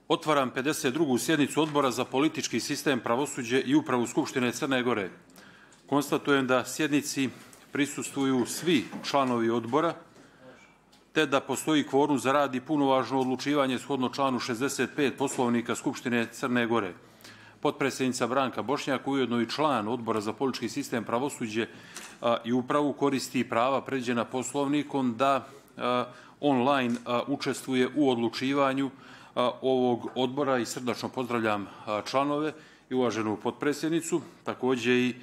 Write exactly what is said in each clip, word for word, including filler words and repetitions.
Otvaram pedeset drugu sjednicu Odbora za politički sistem, pravosuđe i upravu Skupštine Crne Gore. Konstatujem da sjednici prisustvuju svi članovi odbora, te da postoji kvorum za rad i punovažno odlučivanje shodno članu šezdeset pet Poslovnika Skupštine Crne Gore. Potpredsjednica Branka Bošnjak, ujedno i član Odbora za politički sistem, pravosuđe i upravu, koristi prava predviđena Poslovnikom da online učestvuje u odlučivanju ovog odbora i srdačno pozdravljam članove i uvaženu potpredsjednicu. Također i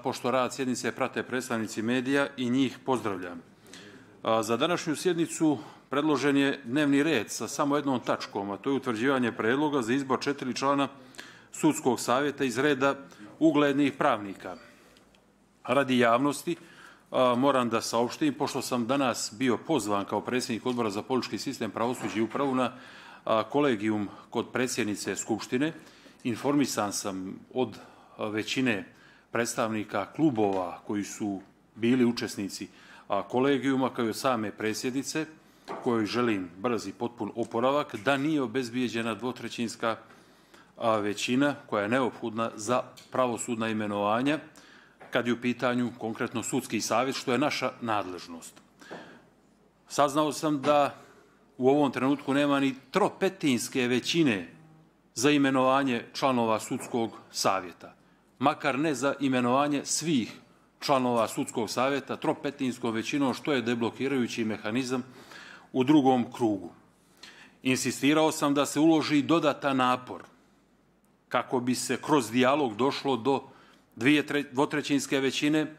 pošto rad sjednice prate predstavnici medija i njih pozdravljam. Za današnju sjednicu predložen je dnevni red sa samo jednom tačkom, a to je utvrđivanje predloga za izbor četiri člana sudskog savjeta iz reda uglednih pravnika. Radi javnosti moram da saopštim, pošto sam danas bio pozvan kao predsjednik Odbora za politički sistem, pravosuđe i upravu na kolegijum kod predsjednice Skupštine, informisan sam od većine predstavnika klubova koji su bili učesnici kolegijuma, kao i od same predsjednice, kojoj želim brz i potpun oporavak, da nije obezbijeđena dvotrećinska većina koja je neophodna za pravosudna imenovanja, kad je u pitanju konkretno sudski savjet, što je naša nadležnost. Saznao sam da u ovom trenutku nema ni tropetinske većine za imenovanje članova sudskog savjeta. Makar ne za imenovanje svih članova sudskog savjeta tropetinskom većinom, što je deblokirajući mehanizam u drugom krugu. Insistirao sam da se uloži dodatan napor kako bi se kroz dijalog došlo do dvije dvotrećinske većine,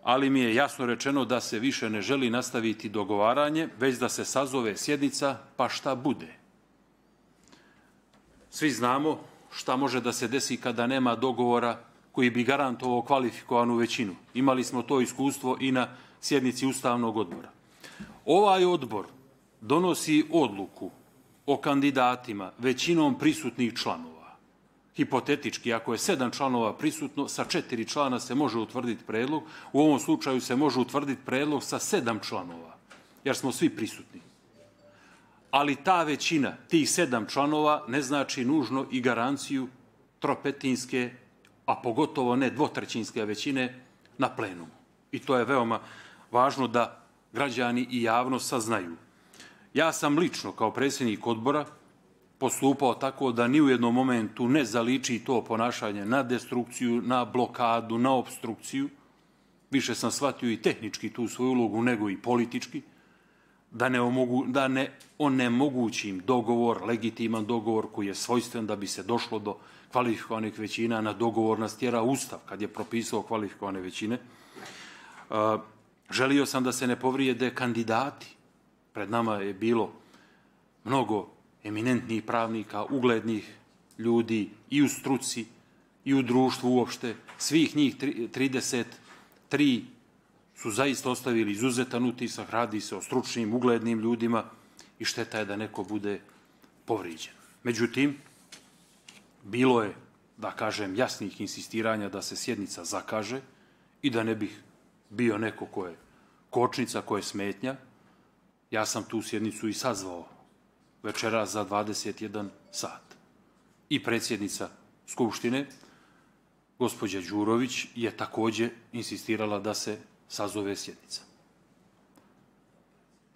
ali mi je jasno rečeno da se više ne želi nastaviti dogovaranje, već da se sazove sjednica, pa šta bude. Svi znamo šta može da se desi kada nema dogovora koji bi garantovao kvalifikovanu većinu. Imali smo to iskustvo i na sjednici Ustavnog odbora. Ovaj odbor donosi odluku o kandidatima većinom prisutnih članova. Hipotetički, ako je sedam članova prisutno, sa četiri člana se može utvrditi predlog. U ovom slučaju se može utvrditi predlog sa sedam članova, jer smo svi prisutni. Ali ta većina, tih sedam članova, ne znači nužno i garanciju tropetinske, a pogotovo ne dvotrećinske većine na plenumu. I to je veoma važno da građani i javnost saznaju. Ja sam lično, kao predsjednik odbora, postupao tako da ni u jednom momentu ne zaliči to ponašanje na destrukciju, na blokadu, na obstrukciju. Više sam shvatio i tehnički tu svoju ulogu nego i politički, da ne, omogu, da ne onemogućim dogovor, legitiman dogovor koji je svojstven da bi se došlo do kvalifikovanih većina. Na dogovor nas tjera Ustav kad je propisao kvalifikovane većine. Želio sam da se ne povrijede kandidati. Pred nama je bilo mnogo eminentnih pravnika, uglednih ljudi i u struci i u društvu uopšte. Svih njih trideset tri su zaista ostavili izuzetan utisak, radi se o stručnim, uglednim ljudima i šteta je da neko bude povrijeđen. Međutim, bilo je, da kažem, jasnih insistiranja da se sjednica zakaže i da ne bih bio neko ko je kočnica, ko je smetnja. Ja sam tu sjednicu i sazvao večera za dvadeset jedan sat. I predsjednica Skupštine, gospođa Đurović, je također insistirala da se sazove sjednica.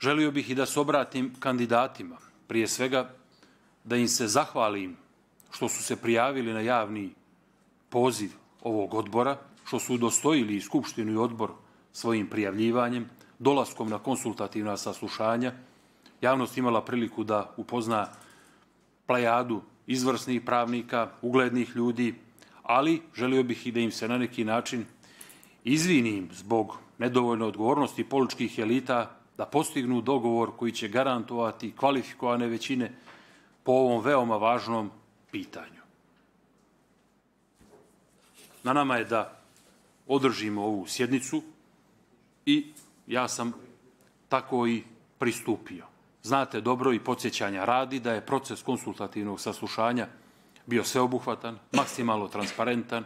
Želio bih i da se obratim kandidatima. Prije svega da im se zahvalim što su se prijavili na javni poziv ovog odbora, što su udostojili i Skupštinu i odbor svojim prijavljivanjem, dolaskom na konsultativna saslušanja. Javnost imala priliku da upozna plejadu izvrsnih pravnika, uglednih ljudi, ali želio bih i da im se na neki način izvinim zbog nedovoljne odgovornosti političkih elita da postignu dogovor koji će garantovati kvalifikovane većine po ovom veoma važnom pitanju. Na nama je da održimo ovu sjednicu i ja sam tako i pristupio. Znate dobro i podsjećanja radi da je proces konsultativnog saslušanja bio sveobuhvatan, maksimalno transparentan,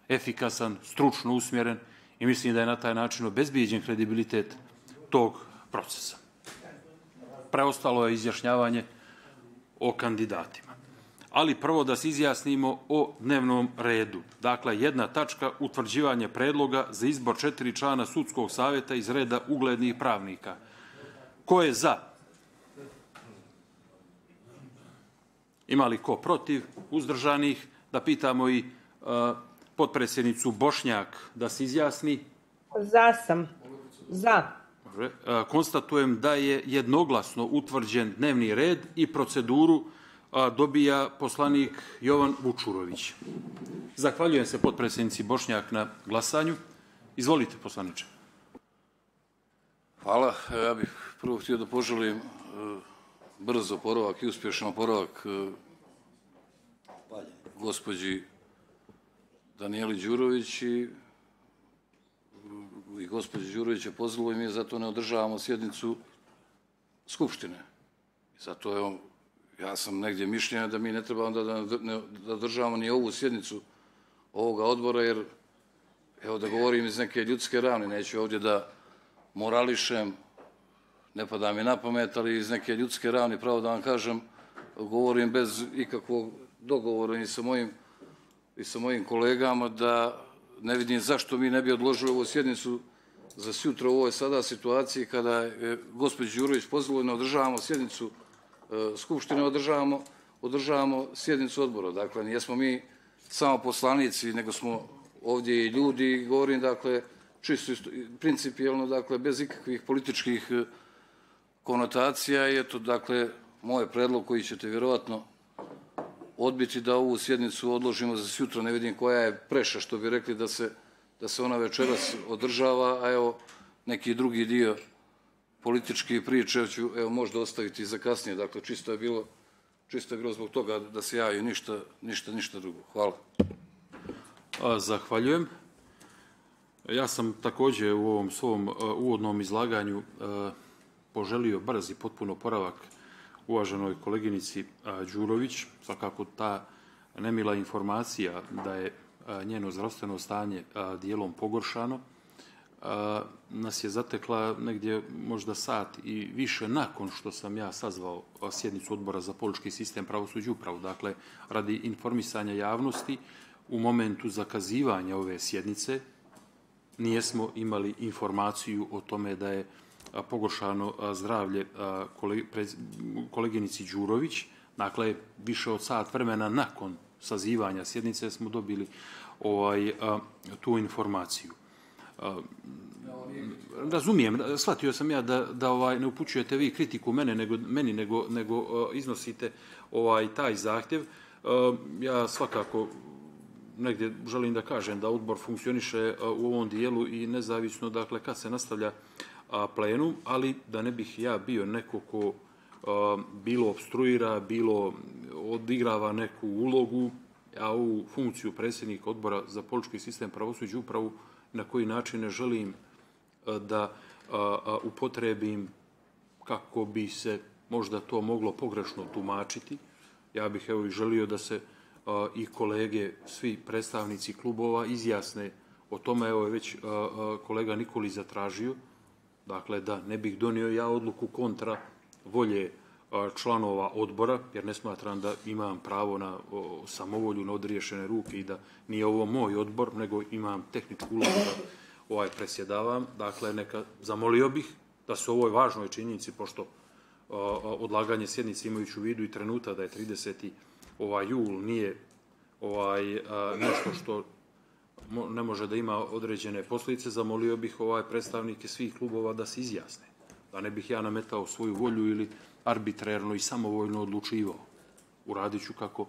efikasan, stručno usmjeren i mislim da je na taj način obezbijeđen kredibilitet tog procesa. Preostalo je izjašnjavanje o kandidatima. ali prvo da se izjasnimo o dnevnom redu. Dakle, jedna tačka, utvrđivanje predloga za izbor četiri člana sudskog savjeta iz reda uglednih pravnika. Ko je za? Ima li ko protiv? Uzdržanih? Da pitamo i uh, potpredsjednicu Bošnjak da se izjasni. Za sam. Za. Uh, konstatujem da je jednoglasno utvrđen dnevni red i proceduru dobija poslanik Jovan Vučurović. Zahvaljujem se potpredsjednici Bošnjak na glasanju. Izvolite, poslaniče. Hvala. Ja bih prvo htio da poželim brz oporavak i uspješan oporavak gospođi Danijeli Đurović i, i gospođi Đurović je pozvalo i mi zato ne održavamo sjednicu Skupštine. I zato je on Ja sam negdje mišljenja da mi ne treba onda da, da državamo ni ovu sjednicu ovoga odbora, jer, evo da govorim iz neke ljudske ravne, neću ovdje da morališem, ne pada mi na pamet, ali iz neke ljudske ravne, pravo da vam kažem, govorim bez ikakvog dogovora i sa mojim, i sa mojim kolegama, da ne vidim zašto mi ne bi odložili ovu sjednicu za sutra u ovoj sada situaciji kada je gospođa Đurović pozvalo i ne održavamo sjednicu Skupštine, održavamo, održavamo sjednicu odbora. Dakle, nijesmo mi samo poslanici, nego smo ovdje i ljudi, govorim, dakle, čisto principijelno, dakle, bez ikakvih političkih konotacija. I eto, dakle, moj predlog koji ćete vjerovatno odbiti da ovu sjednicu odložimo za sutra. Ne vidim koja je preša, što bi rekli da se, da se ona večeras održava, a evo, neki drugi dio političke priče ću, evo, možda ostaviti za kasnije. Dakle, čisto je bilo, čisto je bilo zbog toga da se javi, ništa, ništa, ništa drugo. Hvala. Zahvaljujem. Ja sam također u ovom svom uvodnom izlaganju poželio brz i potpuno oporavak uvaženoj koleginici Đurović. Svakako ta nemila informacija da je njeno zdravstveno stanje dijelom pogoršano nas je zatekla negdje možda sat i više nakon što sam ja sazvao sjednicu odbora za politički sistem, pravosuđe i upravu. Dakle, radi informisanja javnosti, u momentu zakazivanja ove sjednice nijesmo imali informaciju o tome da je pogoršano zdravlje koleginici Đurović. Dakle, više od sat vremena nakon sazivanja sjednice smo dobili ovaj, tu informaciju. Razumijem, shvatio sam ja da, da ovaj, ne upućujete vi kritiku mene, nego, meni, nego, nego uh, iznosite ovaj, taj zahtjev. Uh, ja svakako negdje želim da kažem da odbor funkcioniše uh, u ovom dijelu i nezavisno, dakle, kad se nastavlja uh, plenum, ali da ne bih ja bio neko ko uh, bilo obstruira, bilo odigrava neku ulogu, ja ovu funkciju predsjednika odbora za politički sistem, pravosuđe i upravu na koji način ne želim da upotrebim kako bi se možda to moglo pogrešno tumačiti. Ja bih evo i želio da se i kolege, svi predstavnici klubova izjasne o tome. Evo je već kolega Nikolić zatražio, dakle da ne bih donio ja odluku kontra volje članova odbora, jer ne smatram da imam pravo na samovolju, na odriješene ruke i da nije ovo moj odbor, nego imam tehničku ulogu da ovaj presjedavam. Dakle, neka zamolio bih da se o ovoj važnoj činjenici, pošto odlaganje sjednice imajući u vidu i trenuta da je trideseti ovaj jul nije ovaj nešto što ne može da ima određene posljedice, zamolio bih ovaj predstavnike svih klubova da se izjasne. Da ne bih ja nametao svoju volju ili arbitrarno i samovoljno odlučivao. Uradit ću kako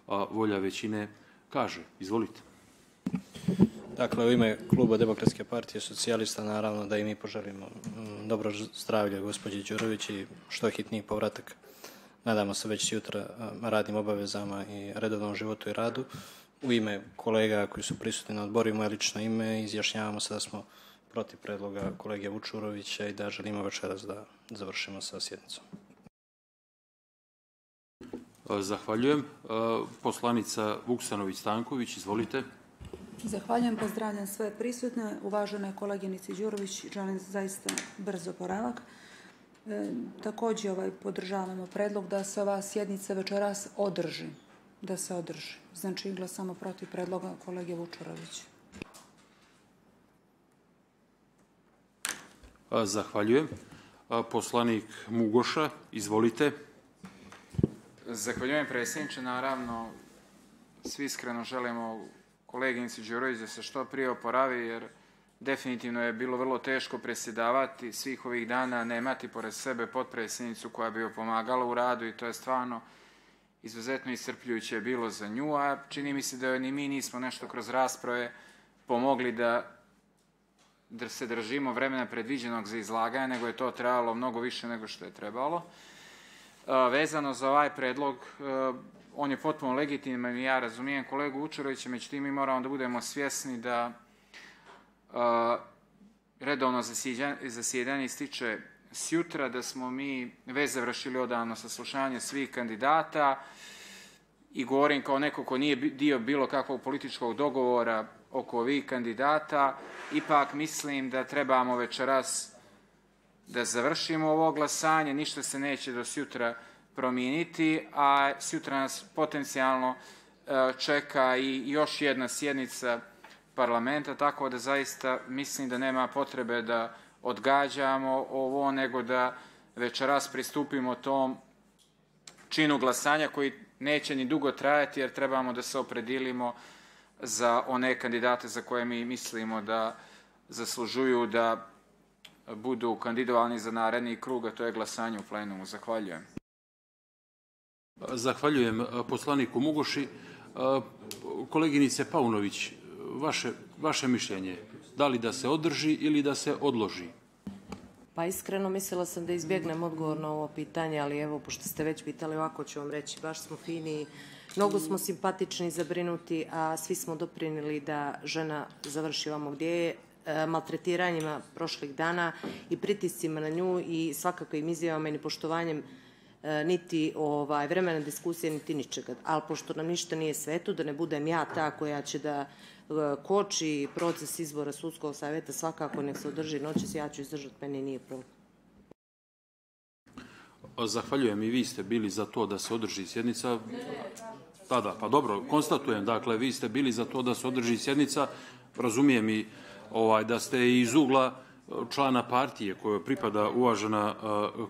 a, volja većine kaže. Izvolite. Dakle, u ime Kluba Demokratske partije socijalista, naravno da i mi poželimo dobro zdravlje gospođi Đurović i što hitniji povratak. Nadamo se već jutra radnim obavezama i redovnom životu i radu. U ime kolega koji su prisutni na odboru, moje lično ime, izjašnjavamo se da smo protiv predloga kolege Vučurovića i da želimo večeras da završimo sa sjednicom. Zahvaljujem. Poslanica Vuksanović-Stanković, izvolite. Zahvaljujem, pozdravljam sve prisutne. Uvaženoj koleginici Đurović želim zaista brzo oporavak. E, također ovaj, podržavamo predlog da se ova sjednica večeras održi. da se održi. Znači, glasamo protiv predloga kolege Vučurovića. Zahvaljujem. Poslanik Mugoša, izvolite. Zahvaljujem, predsjedniče. Naravno, svi iskreno želimo koleginici Đurović da se što prije oporavi, jer definitivno je bilo vrlo teško predsjedavati svih ovih dana, nemati pored sebe potpredsjednicu koja bi joj pomagala u radu, i to je stvarno izuzetno iscrpljujuće bilo za nju, a čini mi se da ni mi nismo nešto kroz rasprave pomogli da da se držimo vremena predviđenog za izlaganje, nego je to trebalo mnogo više nego što je trebalo. Vezano za ovaj predlog, on je potpuno legitiman i ja razumijem kolegu Vučurovića, međutim mi moramo da budemo svjesni da redovno zasjedanje ističe sjutra, da smo mi već završili odavno saslušanje svih kandidata i govorim kao neko ko nije dio bilo kakvog političkog dogovora oko ovih kandidata. Ipak mislim da trebamo večeras da završimo ovo glasanje, ništa se neće do sutra promijeniti, a sutra nas potencijalno čeka i još jedna sjednica parlamenta, tako da zaista mislim da nema potrebe da odgađamo ovo, nego da večeras pristupimo tom činu glasanja koji neće ni dugo trajati, jer trebamo da se opredilimo za one kandidate za koje mi mislimo da zaslužuju da budu kandidovani za naredni krug, a to je glasanje u plenumu. Zahvaljujem. Zahvaljujem poslaniku Mugoši. Koleginice Paunović, vaše, vaše mišljenje, da li da se održi ili da se odloži? Pa iskreno mislila sam da izbjegnem odgovor na ovo pitanje, ali evo, pošto ste već pitali, ovako ću vam reći, baš smo fini, mnogo smo simpatični, zabrinuti, a svi smo doprinili da žena završi ovamo gdje je, maltretiranjima prošlih dana i pritiscima na nju i svakakvim izjavama i nepoštovanjem niti ovaj, vremena diskusije, niti ničega. Ali pošto nam ništa nije sveto, da ne budem ja ta koja će da koči proces izbora sudskog savjeta, svakako nek se održi noćas, ja ću izdržati, meni nije problem. Zahvaljujem, i vi ste bili za to da se održi sjednica. Da, da, pa dobro, konstatujem, dakle, vi ste bili za to da se održi sjednica, razumijem i ovaj, da ste iz ugla člana partije kojoj pripada uvažena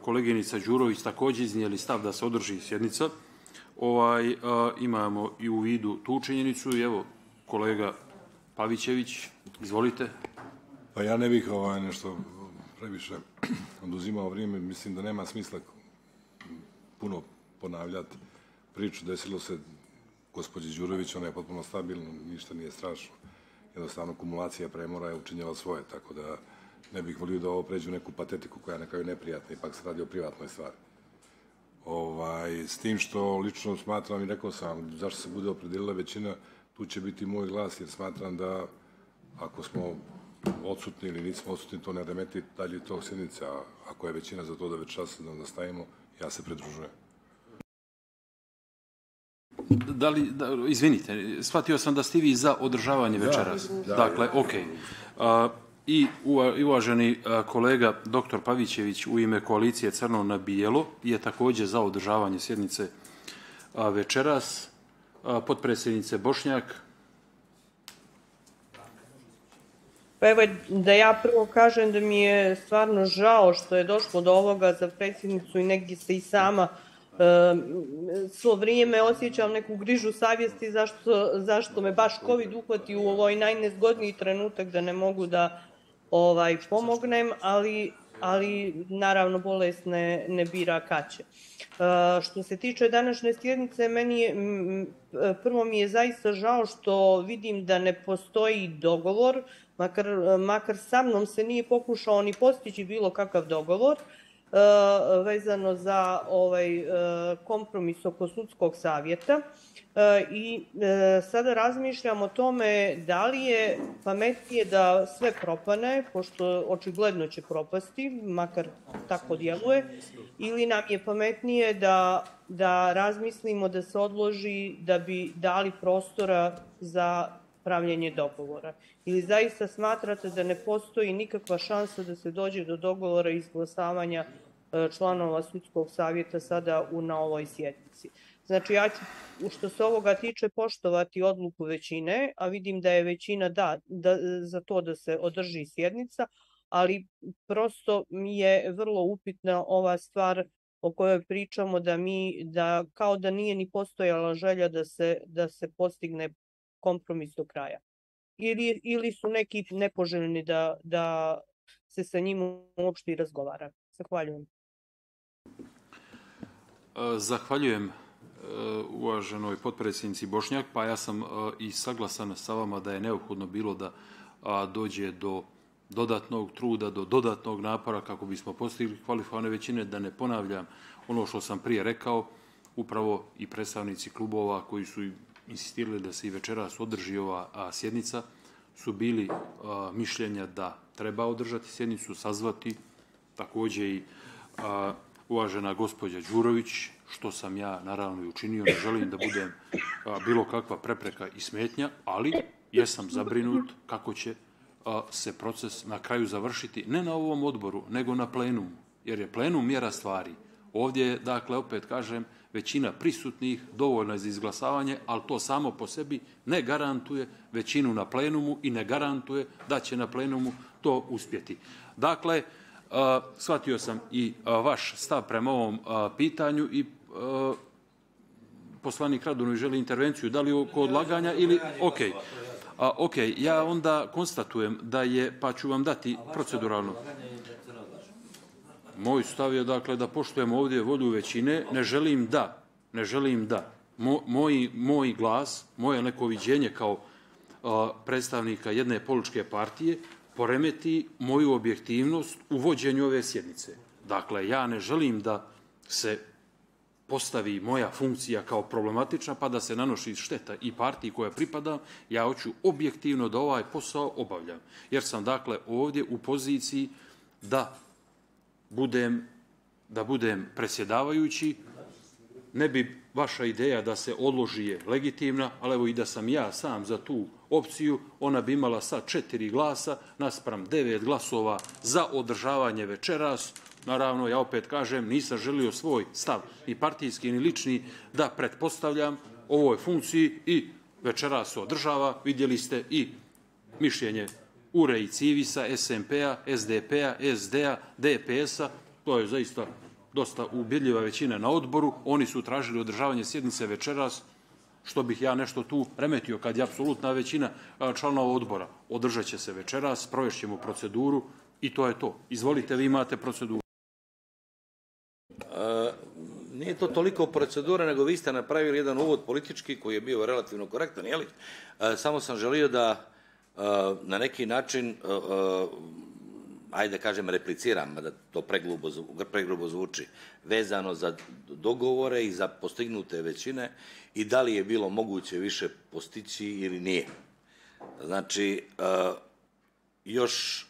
koleginica Đurović također iznijeli stav da se održi sjednica. Ovaj, imamo i u vidu tu činjenicu i evo, kolega Pavićević, izvolite. Pa ja ne bih ovaj, nešto previše oduzimao vrijeme, mislim da nema smisla puno ponavljati priču, desilo se gospođi Đurović, ona je potpuno stabilna, ništa nije strašno. Jednostavno, kumulacija premora je učinjela svoje, tako da ne bih volio da ovo pređe u neku patetiku koja je na kraju neprijatna, ipak se radi o privatnoj stvari. Ovaj, s tim što lično smatram i rekao sam, zašto se bude opredelila većina, tu će biti moj glas, jer smatram da ako smo odsutni ili nismo odsutni, to ne remeti dalje tog sjednice, a ako je većina za to da večeras da stavimo, ja se pridružujem. Da li, da, izvinite, shvatio sam da ste vi za održavanje večeras. Da, dakle, okej. Okay. I uvaženi kolega doktor Pavićević u ime koalicije Crno na bijelo je također za održavanje sjednice večeras. Potpredsjednice Bošnjak. Pa evo da ja prvo kažem da mi je stvarno žao što je došlo do ovoga za predsjednicu i negdje se i sama svo vrijeme osjećam neku grižu savjesti zašto, zašto me baš COVID uhvati u ovoj najnezgodniji trenutak da ne mogu da ovaj, pomognem, ali, ali naravno bolest ne, ne bira kaće. Što se tiče današnje sjednice, meni je, prvo mi je zaista žao što vidim da ne postoji dogovor, makar, makar sa mnom se nije pokušao ni postići bilo kakav dogovor, vezano za ovaj kompromis oko sudskog savjeta i sada razmišljam o tome da li je pametnije da sve propane, pošto očigledno će propasti, makar tako djeluje, ili nam je pametnije da, da razmislimo da se odloži da bi dali prostora za pravljenje dogovora. Ili zaista smatrate da ne postoji nikakva šansa da se dođe do dogovora i izglasavanja članova sudskog savjeta sada u, na ovoj sjednici. Znači, ja ću, što se ovoga tiče, poštovati odluku većine, a vidim da je većina da, da, za to da se održi sjednica, ali prosto mi je vrlo upitna ova stvar o kojoj pričamo, da mi, da kao da nije ni postojala želja da se, da se postigne kompromis do kraja. Ili, ili su neki nepoželjni da, da se sa njim uopšte i razgovara. Zahvaljujem. Zahvaljujem uvaženoj potpredsjednici Bošnjak, pa ja sam i saglasan sa vama da je neophodno bilo da dođe do dodatnog truda, do dodatnog napora kako bismo postigli kvalifikovane većine, da ne ponavljam ono što sam prije rekao, upravo i predstavnici klubova koji su insistirali da se i večeras održi ova sjednica, su bili mišljenja da treba održati sjednicu, sazvati, također i uvažena gospođa Đurović, što sam ja naravno i učinio, ne želim da budem bilo kakva prepreka i smetnja, ali jesam zabrinut kako će se proces na kraju završiti, ne na ovom odboru, nego na plenumu, jer je plenum mjera stvari. Ovdje je, dakle, opet kažem, većina prisutnih dovoljna za izglasavanje, ali to samo po sebi ne garantuje većinu na plenumu i ne garantuje da će na plenumu to uspjeti. Dakle, shvatio sam i vaš stav prema ovom pitanju i poslanik Radunović želi intervenciju, da li oko odlaganja ili... Ok, ok, ja onda konstatujem da je, pa ću vam dati proceduralno. Moj stav je, dakle, da poštujemo ovdje volju većine, ne želim da, ne želim da moj, moj glas, moje neko viđenje kao predstavnika jedne političke partije poremeti moju objektivnost u vođenju ove sjednice. Dakle, ja ne želim da se postavi moja funkcija kao problematična pa da se nanoši šteta i partiji koja pripada, ja hoću objektivno da ovaj posao obavljam. Jer sam, dakle, ovdje u poziciji da budem, da budem predsjedavajući. Ne bi vaša ideja da se odloži je legitimna, ali evo i da sam ja sam za tu opciju, ona bi imala sad četiri glasa naspram devet glasova za održavanje večeras. Naravno, ja opet kažem, nisam želio svoj stav, ni partijski, ni lični, da pretpostavljam ovoj funkciji i večeras se održava. Vidjeli ste i mišljenje U R E i Civisa, S M P-a, S D P-a, S D-a, D P S-a. To je zaista dosta ubjedljiva većina na odboru. Oni su tražili održavanje sjednice večeras, što bih ja nešto tu remetio kad je apsolutna većina članova odbora. Održat će se večeras, provešćemo proceduru i to je to. Izvolite, vi imate proceduru. E, nije to toliko procedura, nego vi ste napravili jedan uvod politički koji je bio relativno korektan, jeli? E, samo sam želio da e, na neki način, e, ajde da kažem, repliciram, da to pregrubo, pregrubo zvuči, vezano za dogovore i za postignute većine i da li je bilo moguće više postići ili nije. Znači, e, još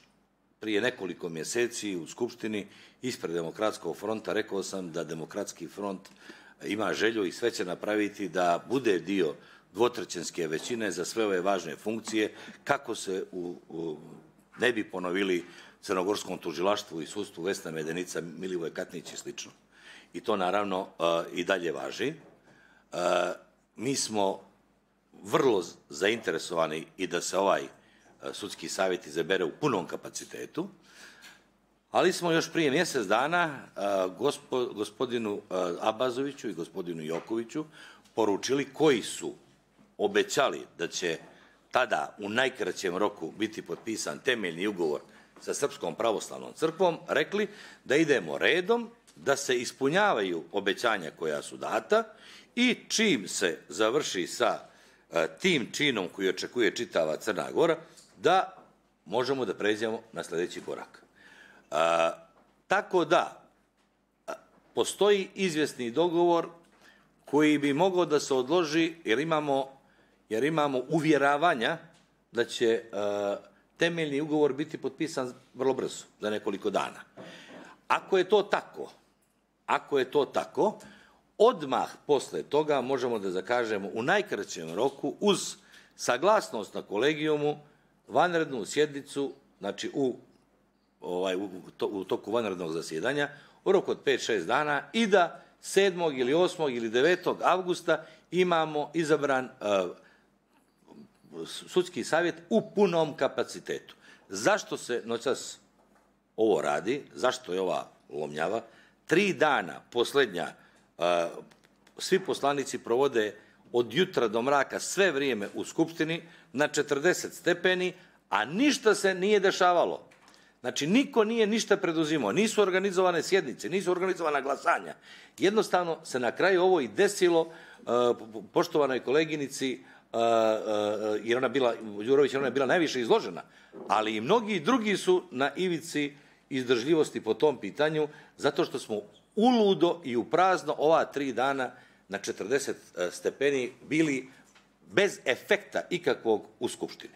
prije nekoliko mjeseci u Skupštini ispred Demokratskog fronta rekao sam da Demokratski front ima želju i sve će napraviti da bude dio dvotrećinske većine za sve ove važne funkcije, kako se u, u, ne bi ponovili crnogorskom tužilaštvu i sudstvu Vesna Medenica, Milivoj Katnić i slično. I to naravno uh, i dalje važi. Uh, mi smo vrlo zainteresovani i da se ovaj uh, sudski savjet izabere u punom kapacitetu, ali smo još prije mjesec dana uh, gospo, gospodinu uh, Abazoviću i gospodinu Jokoviću poručili koji su obećali da će tada u najkraćem roku biti potpisan temeljni ugovor sa Srpskom pravoslavnom crkvom, rekli da idemo redom, da se ispunjavaju obećanja koja su data i čim se završi sa uh, tim činom koji očekuje čitava Crna Gora, da možemo da pređemo na sljedeći korak. Uh, tako da uh, postoji izvjesni dogovor koji bi mogao da se odloži jer imamo, jer imamo uvjeravanja da će uh, temeljni ugovor biti potpisan vrlo brzo, za nekoliko dana. Ako je to tako, ako je to tako, odmah posle toga možemo da zakažemo u najkraćem roku uz saglasnost na kolegijumu vanrednu sjednicu, znači u, ovaj, u, to, u toku vanrednog zasjedanja, u roku od pet šest dana i da sedmog ili osmog ili devetog avgusta imamo izabran sudski savjet u punom kapacitetu. Zašto se noćas ovo radi? Zašto je ova lomnjava? Tri dana posljednja svi poslanici provode od jutra do mraka sve vrijeme u Skupštini na četrdeset stepeni, a ništa se nije dešavalo. Znači, niko nije ništa preduzimao, nisu organizovane sjednice, nisu organizovana glasanja. Jednostavno se na kraju ovo i desilo poštovanoj koleginici, jer ona bila, Đurović, ona je bila najviše izložena, ali i mnogi drugi su na ivici izdržljivosti po tom pitanju, zato što smo uludo i u prazno ova tri dana na četrdeset stepeni bili bez efekta ikakvog u Skupštini.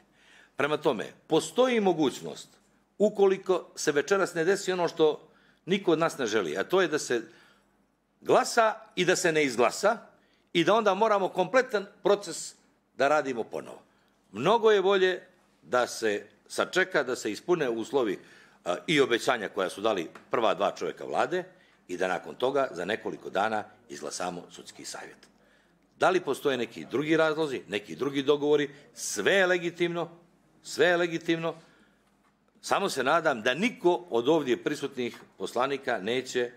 Prema tome, postoji mogućnost, ukoliko se večeras ne desi ono što niko od nas ne želi, a to je da se glasa i da se ne izglasa i da onda moramo kompletan proces da radimo ponovo. Mnogo je bolje da se sačeka, da se ispune uslovi i obećanja koja su dali prva dva čovjeka vlade i da nakon toga za nekoliko dana izglasamo sudski savjet. Da li postoje neki drugi razlozi, neki drugi dogovori, sve je legitimno, sve je legitimno, samo se nadam da niko od ovdje prisutnih poslanika neće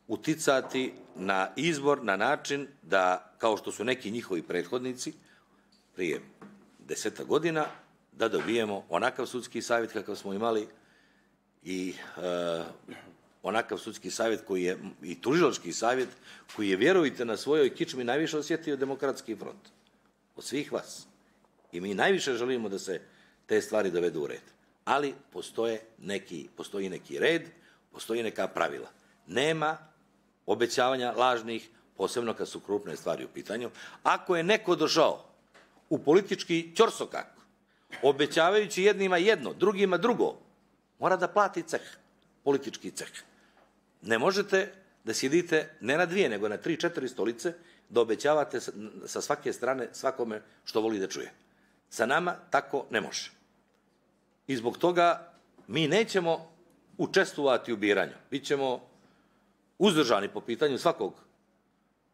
uticati na izbor na način da, kao što su neki njihovi prethodnici prije deseta godina, da dobijemo onakav sudski savjet kakav smo imali i e, onakav sudski savjet koji je, i tužilački savjet koji je, vjerujte, na svojoj kičmi najviše osjetio Demokratski front. Od svih vas. I mi najviše želimo da se te stvari dovedu u red. Ali postoje neki, postoji neki red, postoji neka pravila. Nema obećavanja lažnih, posebno kad su krupne stvari u pitanju. Ako je neko došao u politički ćorsokak, obećavajući jednima jedno, drugima drugo, mora da plati ceh, politički ceh. Ne možete da sjedite ne na dvije, nego na tri, četiri stolice, da obećavate sa svake strane svakome što voli da čuje. Sa nama tako ne može. I zbog toga mi nećemo učestvovati u biranju. Bićemo uzdržani po pitanju svakog,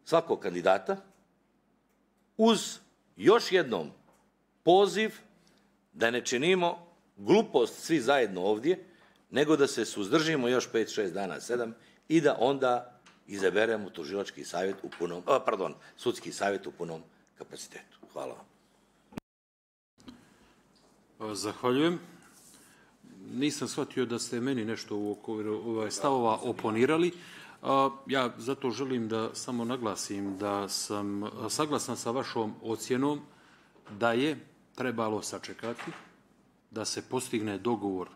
svakog kandidata, uz još jednom poziv da ne činimo glupost svi zajedno ovdje, nego da se suzdržimo još pet šest dana, sedam, i da onda izaberemo tužilački savjet u punom, pardon, sudski savjet u punom kapacitetu. Hvala vam. Zahvaljujem. Nisam shvatio da ste meni nešto u okviru stavova oponirali. Ja zato želim da samo naglasim da sam saglasan sa vašom ocjenom da je trebalo sačekati da se postigne dogovor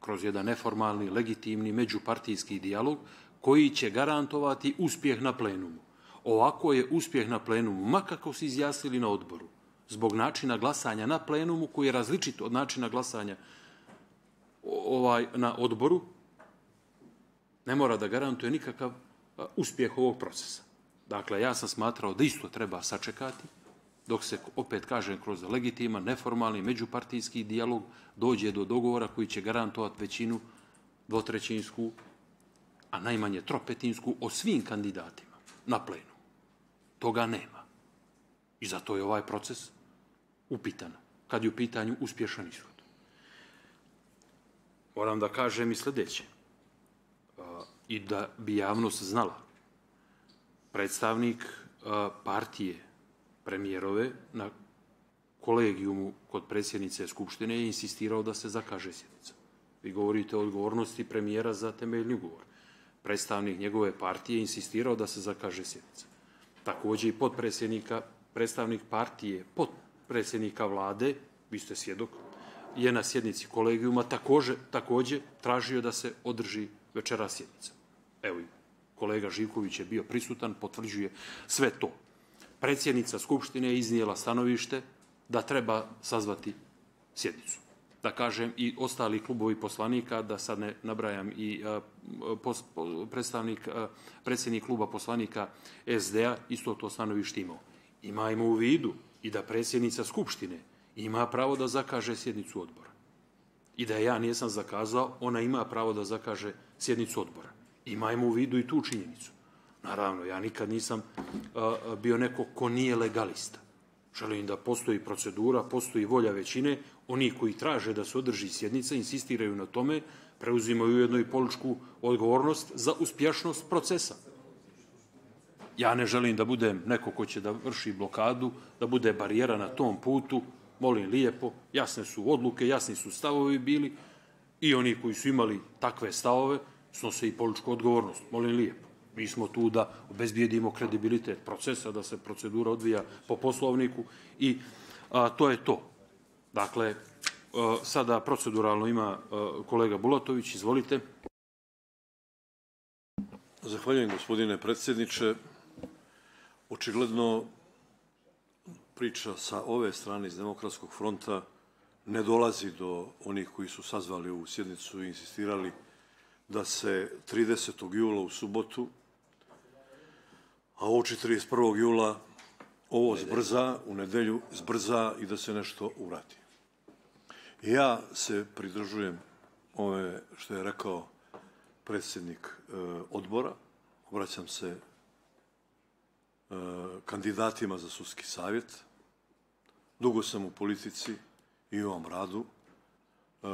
kroz jedan neformalni, legitimni, međupartijski dijalog koji će garantovati uspjeh na plenumu. Ovako je uspjeh na plenumu, ma kako se izjasnili na odboru, zbog načina glasanja na plenumu koji je različit od načina glasanja ovaj, na odboru, ne mora da garantuje nikakav uspjeh ovog procesa. Dakle, ja sam smatrao da isto treba sačekati, dok se, opet kažem, kroz legitiman, neformalni, međupartijski dijalog dođe do dogovora koji će garantovati većinu dvotrećinsku, a najmanje tropetinsku, o svim kandidatima na plenu. Toga nema. I zato je ovaj proces upitan, kad je u pitanju uspješan ishod. Moram da kažem i sljedeće. I da bi javnost znala. Predstavnik partije premijerove na kolegijumu kod predsjednice Skupštine je insistirao da se zakaže sjednica. Vi govorite o odgovornosti premijera za temeljni ugovor. Predstavnik njegove partije je insistirao da se zakaže sjednica. Također i podpredsjednika, predstavnik partije, podpredsjednika vlade, vi ste svjedok, je na sjednici kolegijuma također, također tražio da se održi večera sjednica. Evo, kolega Živković je bio prisutan, potvrđuje sve to. Predsjednica Skupštine je iznijela stanovište da treba sazvati sjednicu. Da kažem i ostali klubovi poslanika, da sad ne nabrajam i a, pos, predstavnik, a, predsjednik kluba poslanika es de a isto to stanovište imao. Imajmo u vidu i da predsjednica Skupštine ima pravo da zakaže sjednicu odbora. I da ja nisam zakazao, ona ima pravo da zakaže sjednicu odbora. Imajmo u vidu i tu činjenicu. Naravno, ja nikad nisam bio neko ko nije legalista. Želim da postoji procedura, postoji volja većine. Oni koji traže da se održi sjednica, insistiraju na tome, preuzimaju ujedno i političku odgovornost za uspješnost procesa. Ja ne želim da budem neko ko će da vrši blokadu, da bude barijera na tom putu. Molim lijepo, jasne su odluke, jasni su stavovi bili i oni koji su imali takve stavove snose i političku odgovornost. Molim lijepo. Mi smo tu da obezbijedimo kredibilitet procesa, da se procedura odvija po poslovniku i a, to je to. Dakle, a, sada proceduralno ima a, kolega Bulatović, izvolite. Zahvaljujem, gospodine predsjedniče. Očigledno priča sa ove strane iz Demokratskog fronta ne dolazi do onih koji su sazvali ovu sjednicu i insistirali da se tridesetog jula u subotu, a oči trideset prvog jula ovo zbrza, u nedelju zbrza i da se nešto uradi. Ja se pridružujem ove što je rekao predsjednik e, odbora, obraćam se e, kandidatima za sudski savjet. Dugo sam u politici i u ovom radu. E,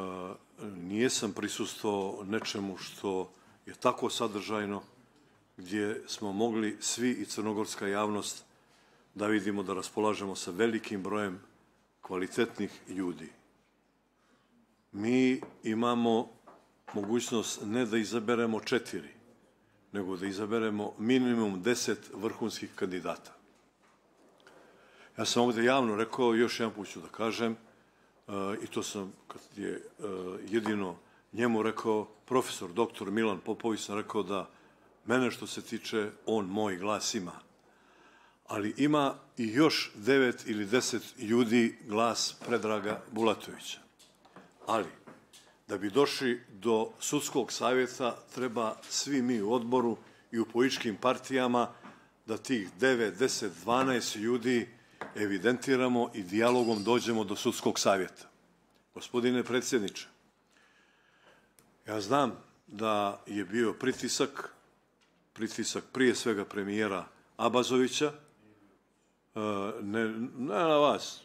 nijesam prisustvovao nečemu što je tako sadržajno gdje smo mogli svi i crnogorska javnost da vidimo da raspolažemo sa velikim brojem kvalitetnih ljudi. Mi imamo mogućnost ne da izaberemo četiri, nego da izaberemo minimum deset vrhunskih kandidata. Ja sam ovdje javno rekao, još jedan put ću da kažem, i to sam kad je jedino njemu rekao, profesor doktor Milan Popović, sam rekao da mene što se tiče, on moj glas ima. Ali ima i još devet ili deset ljudi glas Predraga Bulatovića. Ali, da bi došli do sudskog savjeta, treba svi mi u odboru i u političkim partijama da tih devet, deset, dvanaest ljudi evidentiramo i dijalogom dođemo do sudskog savjeta. Gospodine predsjedniče, ja znam da je bio pritisak, pritisak prije svega premijera Abazovića, ne, ne na vas,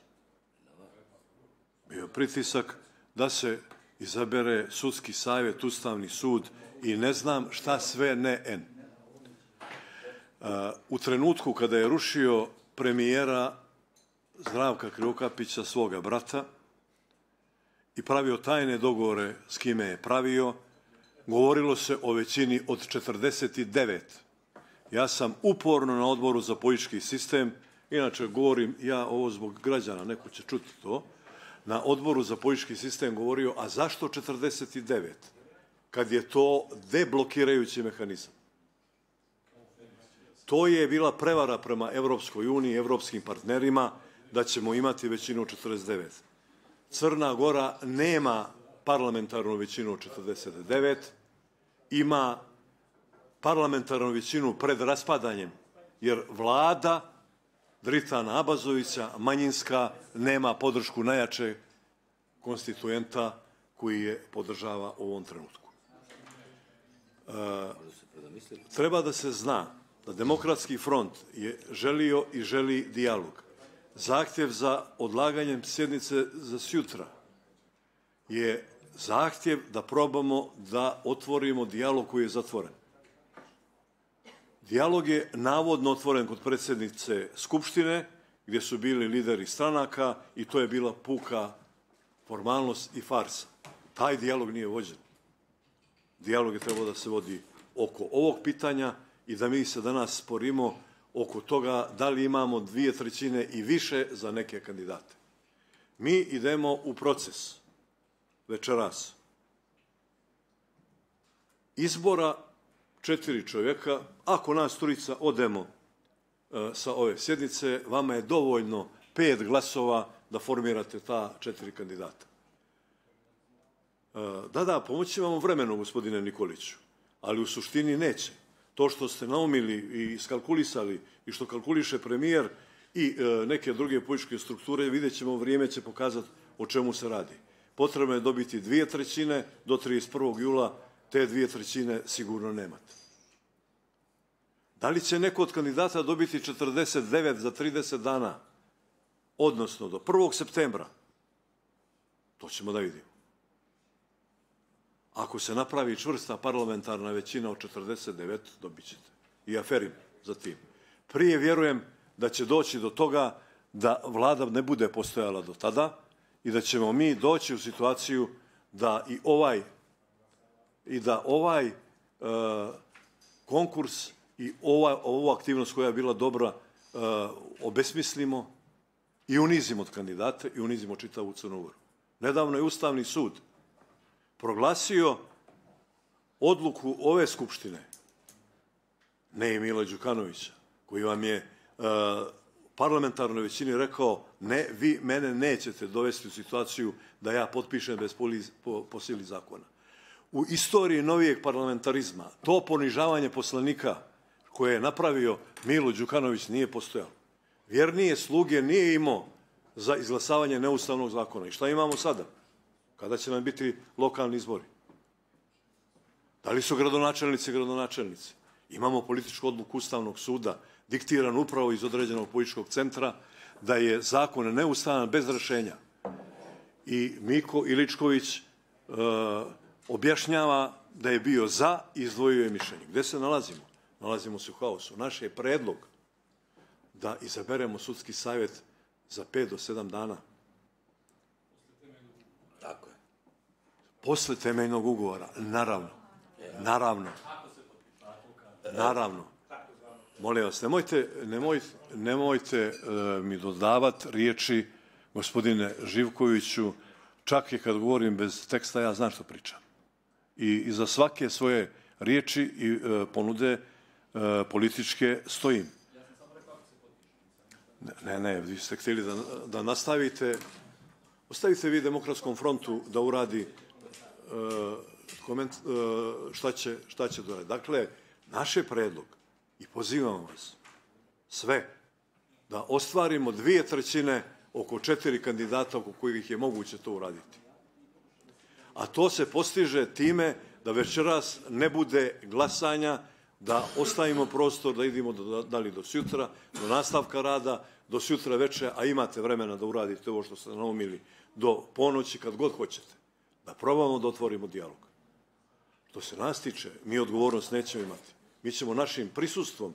bio pritisak da se izabere sudski savjet, Ustavni sud i ne znam šta sve ne en. U trenutku kada je rušio premijera Zdravka Krivokapića, svoga brata, i pravio tajne dogovore s kime je pravio, govorilo se o većini od četrdeset devet. Ja sam uporno na odboru za politički sistem, inače govorim ja ovo zbog građana, neko će čuti to, na odboru za politički sistem govorio, a zašto četrdeset devet? Kad je to deblokirajući mehanizam. To je bila prevara prema Evropskoj uniji, evropskim partnerima, da ćemo imati većinu od četrdeset devet. Crna Gora nema parlamentarnu većinu od četrdeset devet, ima parlamentarnu većinu pred raspadanjem, jer vlada Dritana Abazovića, manjinska, nema podršku najjačeg konstituenta koji je podržava u ovom trenutku. E, treba da se zna da Demokratski front je želio i želi dijalog. Zahtjev za odlaganjem sjednice za sjutra je zahtjev da probamo da otvorimo dijalog koji je zatvoren. Dijalog je navodno otvoren kod predsjednice Skupštine, gdje su bili lideri stranaka i to je bila puka formalnost i farsa. Taj dijalog nije vođen. Dijalog je trebao da se vodi oko ovog pitanja i da mi se danas sporimo oko toga da li imamo dvije trećine i više za neke kandidate. Mi idemo u proces večeras izbora četiri čovjeka. Ako nas trojica odemo e, sa ove sjednice, vama je dovoljno pet glasova da formirate ta četiri kandidata. E, da, da, pomoći vam vremenu, gospodine Nikoliću, ali u suštini neće. To što ste naumili i skalkulisali i što kalkuliše premijer i e, neke druge političke strukture, vidjet ćemo, vrijeme će pokazati o čemu se radi. Potrebno je dobiti dvije trećine do trideset prvog jula te dvije trećine sigurno nemate. Da li će neko od kandidata dobiti četrdeset devet za trideset dana, odnosno do prvog septembra? To ćemo da vidimo. Ako se napravi čvrsta parlamentarna većina od četrdeset devet, dobit ćete. I aferim za tim. Prije vjerujem da će doći do toga da vlada ne bude postojala do tada i da ćemo mi doći u situaciju da i ovaj i da ovaj e, konkurs i ova, ovu aktivnost koja je bila dobra e, obesmislimo i unizimo od kandidata i unizimo čitavu Crnu Goru. Nedavno je Ustavni sud proglasio odluku ove skupštine, ne i Mila Đukanovića, koji vam je uh, parlamentarnoj većini rekao ne, vi mene nećete dovesti u situaciju da ja potpišem bez poli, po, po sili zakona. U istoriji novijeg parlamentarizma to ponižavanje poslanika koje je napravio Milo Đukanović nije postojalo. Vjernije sluge nije imao za izglasavanje neustavnog zakona. I šta imamo sada? Kada će nam biti lokalni izbori? Da li su gradonačelnici gradonačelnici? Imamo političku odluku Ustavnog suda, diktiran upravo iz određenog političkog centra, da je zakon neustavan bez rešenja. I Miko Iličković e, objašnjava da je bio za i izdvojio je mišljenje. Gde se nalazimo? Nalazimo se u haosu. Naš je predlog da izaberemo sudski savjet za pet do sedam dana. Tako je. Posle temeljnog ugovora, naravno. Naravno. Naravno. Molim vas, nemojte, nemojte, nemojte uh, mi dodavati riječi, gospodine Živkoviću, čak i kad govorim bez teksta, ja znam što pričam. I iza svake svoje riječi i uh, ponude uh, političke stojim. Ne, ne, vi ste htjeli da, da nastavite, ostavite vi Demokratskom frontu da uradi uh, koment, uh, šta će, šta će doraditi. Dakle, naš je predlog i pozivamo vas sve da ostvarimo dvije trećine oko četiri kandidata oko kojih je moguće to uraditi. A to se postiže time da večeras ne bude glasanja, da ostavimo prostor da idemo do, da li do sutra, do nastavka rada, do sutra večer, a imate vremena da uradite ovo što ste naumili do ponoći kad god hoćete. Da probamo da otvorimo dijalog. Što se nas tiče, mi odgovornost nećemo imati. Mi ćemo našim prisustvom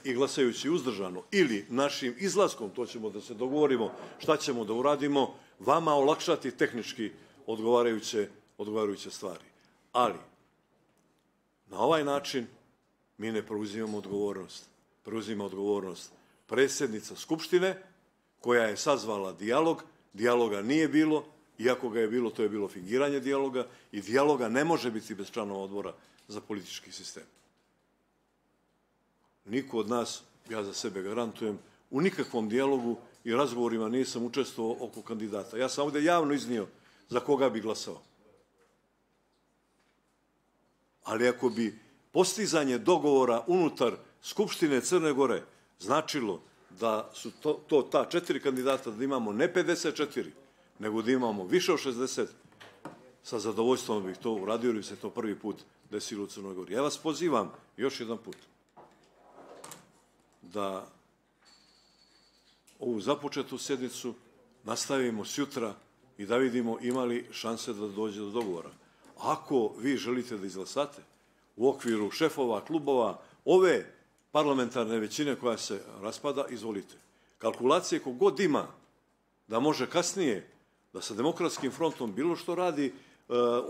i glasajući uzdržano ili našim izlaskom, to ćemo da se dogovorimo šta ćemo da uradimo, vama olakšati tehnički odgovarajuće, odgovarajuće stvari. Ali, na ovaj način mi ne preuzimamo odgovornost. Preuzima odgovornost predsjednica Skupštine, koja je sazvala dijalog, dijaloga nije bilo, iako ga je bilo, to je bilo fingiranje dijaloga i dijaloga ne može biti bez članova odbora za politički sistem. Niko od nas, ja za sebe garantujem, u nikakvom dijalogu i razgovorima nisam učestvovao oko kandidata. Ja sam ovdje javno iznio za koga bi glasao. Ali ako bi postizanje dogovora unutar Skupštine Crne Gore značilo da su to, to ta četiri kandidata, da imamo ne pedeset četiri, nego da imamo više od šezdeset, sa zadovoljstvom bih to uradio, jer bi se to prvi put desilo u Crnoj Gori. Ja vas pozivam još jedan put da ovu započetu sjednicu nastavimo sutra i da vidimo imali šanse da dođe do dogovora. Ako vi želite da izglasate u okviru šefova klubova ove parlamentarne većine koja se raspada, izvolite. Kalkulacije kogod ima da može kasnije da sa Demokratskim frontom bilo što radi, e,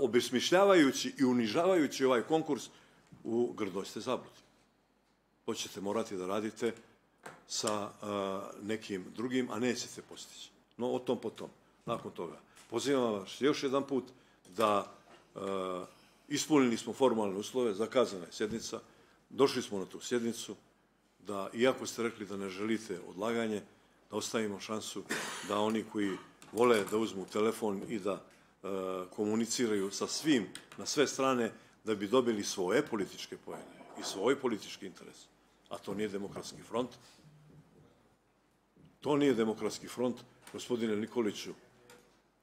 obesmišljavajući i unižavajući ovaj konkurs, u grdoj ste zabludi. To ćete morati da radite sa e, nekim drugim, a nećete postići. No, o tom potom. Nakon toga. Pozivam vas još jedan put da e, ispunili smo formalne uslove, zakazana je sjednica, došli smo na tu sjednicu, da, iako ste rekli da ne želite odlaganje, da ostavimo šansu da oni koji vole da uzmu telefon i da e, komuniciraju sa svim, na sve strane, da bi dobili svoje političke poene i svoj politički interes. A to nije Demokratski front. To nije Demokratski front. Gospodine Nikoliću,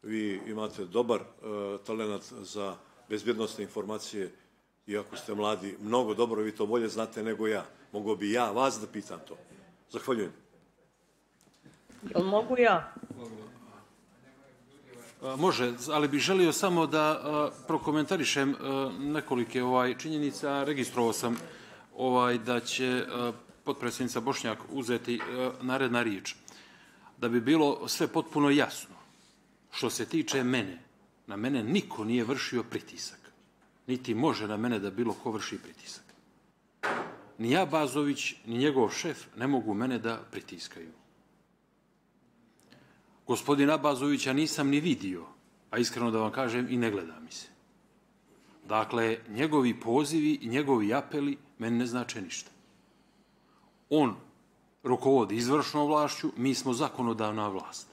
vi imate dobar e, talent za bezbjednostne informacije, iako ste mladi, mnogo dobro, vi to bolje znate nego ja. Mogu bi ja vas da pitam to. Zahvaljujem. Jel mogu ja? Može, ali bih želio samo da prokomentarišem nekolike ovaj činjenica. Registrovao sam ovaj da će potpredsjednica Bošnjak uzeti naredna riječ. Da bi bilo sve potpuno jasno, što se tiče mene, na mene niko nije vršio pritisak. Niti može na mene da bilo ko vrši pritisak. Ni ja, Bazović, ni njegov šef ne mogu mene da pritiskaju. Gospodina Bazovića nisam ni vidio, a iskreno da vam kažem i ne gleda mi se. Dakle, njegovi pozivi i njegovi apeli meni ne znače ništa. On rukovodi izvršnom vlašću, mi smo zakonodavna vlast.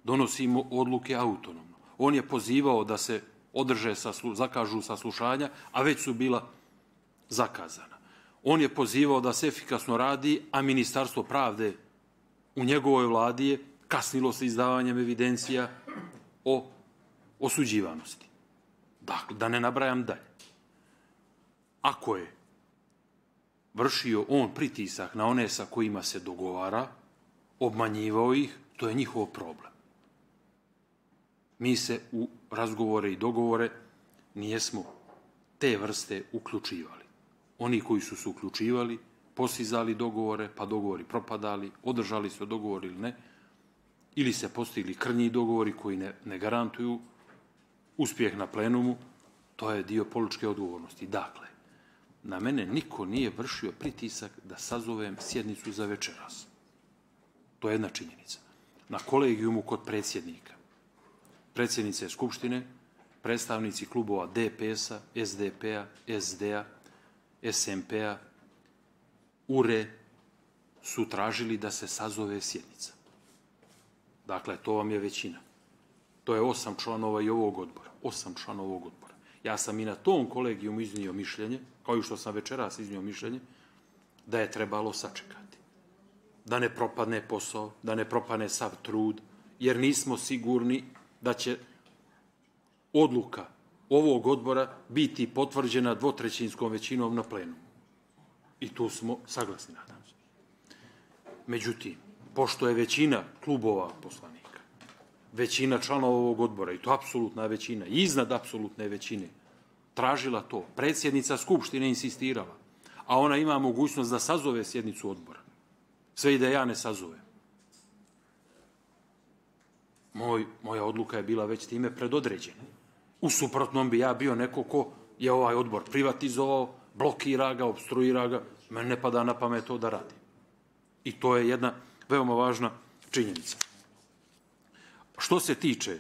Donosimo odluke autonomno. On je pozivao da se održe, saslu, zakažu saslušanja, a već su bila zakazana. On je pozivao da se efikasno radi, a Ministarstvo pravde u njegovoj vladi je kasnilo sa izdavanjem evidencija o osuđivanosti. Dakle, da ne nabrajam dalje. Ako je vršio on pritisak na one sa kojima se dogovara, obmanjivao ih, to je njihov problem. Mi se u razgovore i dogovore nijesmo te vrste uključivali. Oni koji su se uključivali, postizali dogovore, pa dogovori propadali, održali se dogovori ili ne, ili se postigli krnji dogovori koji ne, ne garantuju uspjeh na plenumu, to je dio političke odgovornosti. Dakle, na mene niko nije vršio pritisak da sazovem sjednicu za večeras. To je jedna činjenica. Na kolegijumu kod predsjednika, predsjednice Skupštine, predstavnici klubova D P S-a, S D P-a, S D-a, S M P-a, U R E su tražili da se sazove sjednica. Dakle, to vam je većina. To je osam članova i ovog odbora. Osam članova ovog odbora. Ja sam i na tom kolegijumu iznio mišljenje, kao i što sam večeras iznio mišljenje, da je trebalo sačekati. Da ne propadne posao, da ne propadne sav trud, jer nismo sigurni da će odluka ovog odbora biti potvrđena dvotrećinskom većinom na plenumu. I tu smo saglasni, nadam se. Međutim, pošto je većina klubova poslanika, većina članova ovog odbora, i to apsolutna većina, iznad apsolutne većine, tražila to, predsjednica Skupštine insistirala, a ona ima mogućnost da sazove sjednicu odbora. Sve i da ja ne sazovem. Moj, moja odluka je bila već time predodređena. U suprotnom bi ja bio neko ko je ovaj odbor privatizovao, blokira ga, obstruira ga, meni ne pada na pamet to da radi. I to je jedna veoma važna činjenica. Što se tiče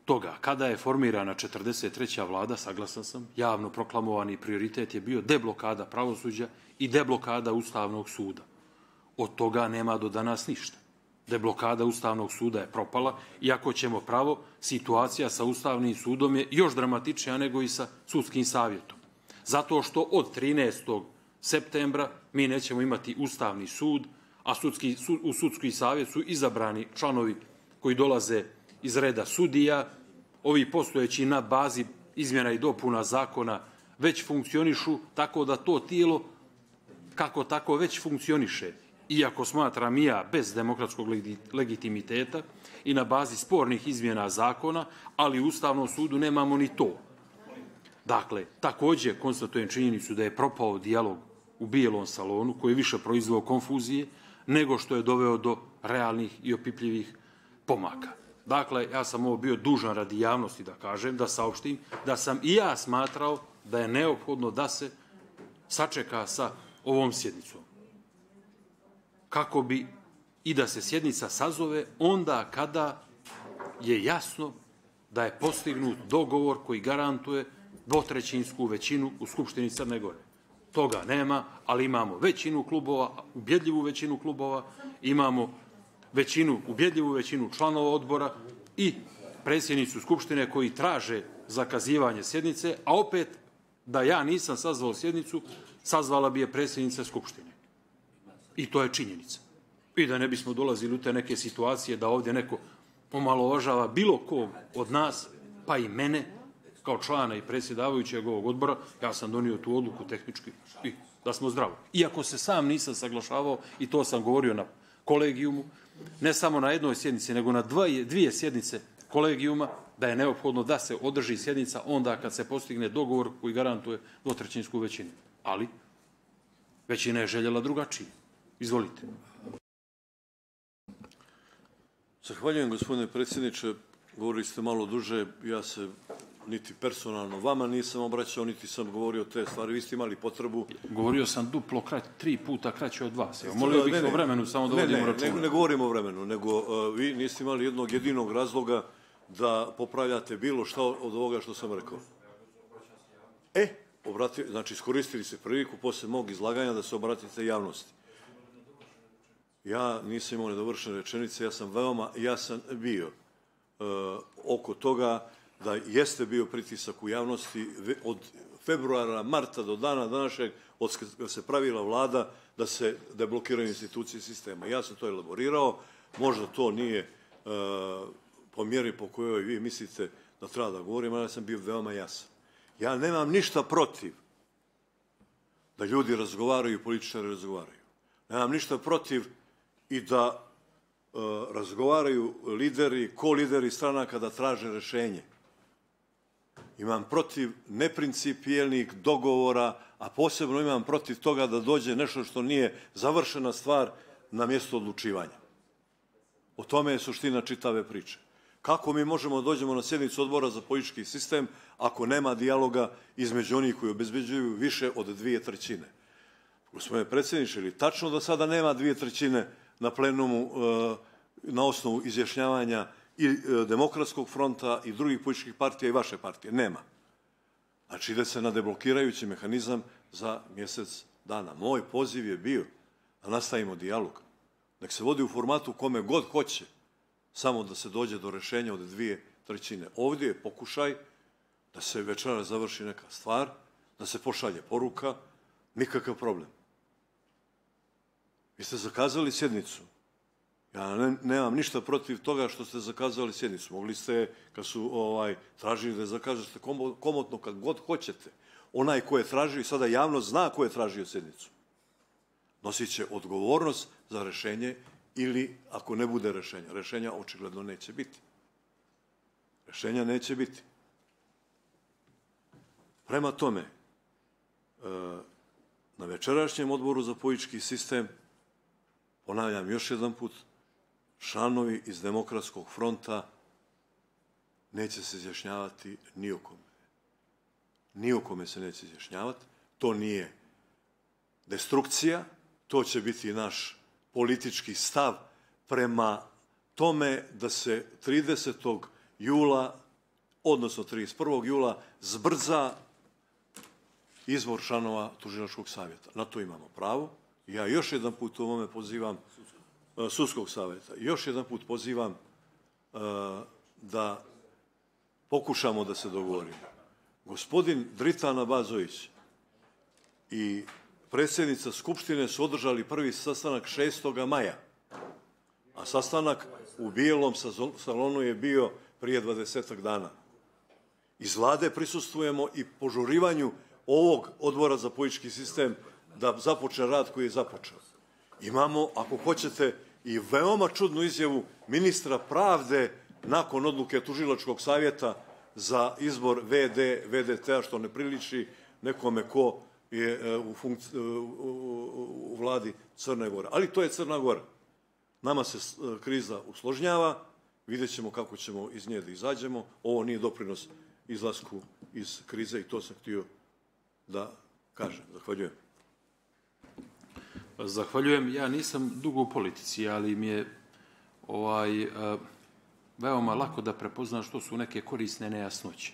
toga, kada je formirana četrdeset treća vlada, saglasan sam, javno proklamovani prioritet je bio deblokada pravosuđa i deblokada Ustavnog suda. Od toga nema do danas ništa. Deblokada Ustavnog suda je propala, iako ćemo pravo, situacija sa Ustavnim sudom je još dramatičnija nego i sa sudskim savjetom. Zato što od trinaestog septembra mi nećemo imati Ustavni sud, a sudski, sud, u sudski savjet su izabrani članovi koji dolaze iz reda sudija. Ovi postojeći na bazi izmjena i dopuna zakona već funkcionišu, tako da to tijelo kako tako već funkcioniše. Iako smatram i ja bez demokratskog legitimiteta i na bazi spornih izmjena zakona, ali u Ustavnom sudu nemamo ni to. Dakle, također konstatujem činjenicu da je propao dijalog u Bijelom salonu, koji je više proizveo konfuzije, nego što je doveo do realnih i opipljivih pomaka. Dakle, ja sam ovo bio dužan radi javnosti da kažem, da saopštim, da sam i ja smatrao da je neophodno da se sačeka sa ovom sjednicom. Kako bi i da se sjednica sazove onda kada je jasno da je postignut dogovor koji garantuje dvotrećinsku većinu u Skupštini Crne Gore. Toga nema, ali imamo većinu klubova, ubjedljivu većinu klubova, imamo većinu, ubjedljivu većinu članova odbora i predsjednicu Skupštine koji traže zakazivanje sjednice, a opet da ja nisam sazvao sjednicu, sazvala bi je predsjednica Skupštine. I to je činjenica. I da ne bismo dolazili u te neke situacije da ovdje neko omalovažava bilo kog od nas, pa i mene, kao člana i predsjedavajućeg ovog odbora, ja sam donio tu odluku tehnički i da smo zdravi. Iako se sam nisam saglašavao, i to sam govorio na kolegijumu, ne samo na jednoj sjednici, nego na dvije, dvije sjednice kolegijuma, da je neophodno da se održi sjednica onda kad se postigne dogovor koji garantuje dvotrećinsku većinu. Ali većina je željela drugačije. Izvolite. Zahvaljujem, gospodine predsjedniče. Govorili ste malo duže, ja se niti personalno vama nisam obraćao, niti sam govorio te stvari. Vi ste imali potrebu... Govorio sam duplo, krać, tri puta kraće od vas. Evo, molio bih o vremenu, samo da vodimo računa. Ne, ne, ne govorimo o vremenu, nego uh, vi niste imali jednog jedinog razloga da popravljate bilo šta od ovoga što sam rekao. E, obrati, znači iskoristili ste priliku posle mog izlaganja da se obratite javnosti. Ja nisam imao nedovršene rečenice, ja sam veoma jasan bio uh, oko toga da jeste bio pritisak u javnosti od februara, marta do dana današnjeg, od kada se pravila vlada, da se deblokiraju institucije sistema. Ja sam to elaborirao, možda to nije uh, po mjeri po kojoj vi mislite da treba da govorim, ali ja sam bio veoma jasan. Ja nemam ništa protiv da ljudi razgovaraju i političari razgovaraju. Nemam ništa protiv i da uh, razgovaraju lideri, ko-lideri stranaka da traže rešenje. Imam protiv neprincipijelnih dogovora, a posebno imam protiv toga da dođe nešto što nije završena stvar na mjesto odlučivanja. O tome je suština čitave priče. Kako mi možemo da dođemo na sjednicu odbora za politički sistem ako nema dijaloga između onih koji obezbeđuju više od dvije trećine? Gospodine predsjedniče, ili tačno da sada nema dvije trećine na plenumu na osnovu izjašnjavanja i Demokratskog fronta i drugih političkih partija i vaše partije? Nema. Znači ide se na deblokirajući mehanizam za mjesec dana. Moj poziv je bio da nastavimo dijalog. Nek se vodi u formatu kome god hoće, samo da se dođe do rešenja od dvije trećine. Ovdje je pokušaj da se večera završi neka stvar, da se pošalje poruka, nikakav problem. Vi ste zakazali sjednicu. Ja ne, nemam ništa protiv toga što ste zakazali sjednicu. Mogli ste, kad su ovaj, tražili da zakažete komotno kad god hoćete. Onaj ko je tražio, sada javnost zna ko je tražio sjednicu. Nosit će odgovornost za rešenje ili ako ne bude rešenja. Rešenja očigledno neće biti. Rešenja neće biti. Prema tome, na večerašnjem odboru za politički sistem, ponavljam još jedan put, članovi iz Demokratskog fronta neće se izjašnjavati ni o kome. Ni o kome se neće izjašnjavati. To nije destrukcija, to će biti naš politički stav prema tome da se tridesetog jula, odnosno trideset prvog jula, zbrza izbor članova Tužilačkog savjeta. Na to imamo pravo. Ja još jedan put u ovome pozivam uh, Sudskog savjeta. Još jedan put pozivam uh, da pokušamo da se dogovorimo. Gospodin Dritan Abazović i predsjednica Skupštine su održali prvi sastanak šestog maja, a sastanak u Bijelom salonu je bio prije dvadesetak dana. Iz vlade prisustvujemo i požurivanju ovog odbora za politički sistem da započne rad koji je započeo. Imamo, ako hoćete, i veoma čudnu izjavu ministra pravde nakon odluke Tužilačkog savjeta za izbor ve de, ve de te a, što ne priliči nekome ko je u, funkci, u, u vladi Crne Gore. Ali to je Crna Gora. Nama se kriza usložnjava, vidjet ćemo kako ćemo iz nje da izađemo. Ovo nije doprinos izlasku iz krize i to sam htio da kažem. Zahvaljujem. Zahvaljujem. Ja nisam dugo u politici, ali mi je ovaj, uh, veoma lako da prepoznam što su neke korisne nejasnoće.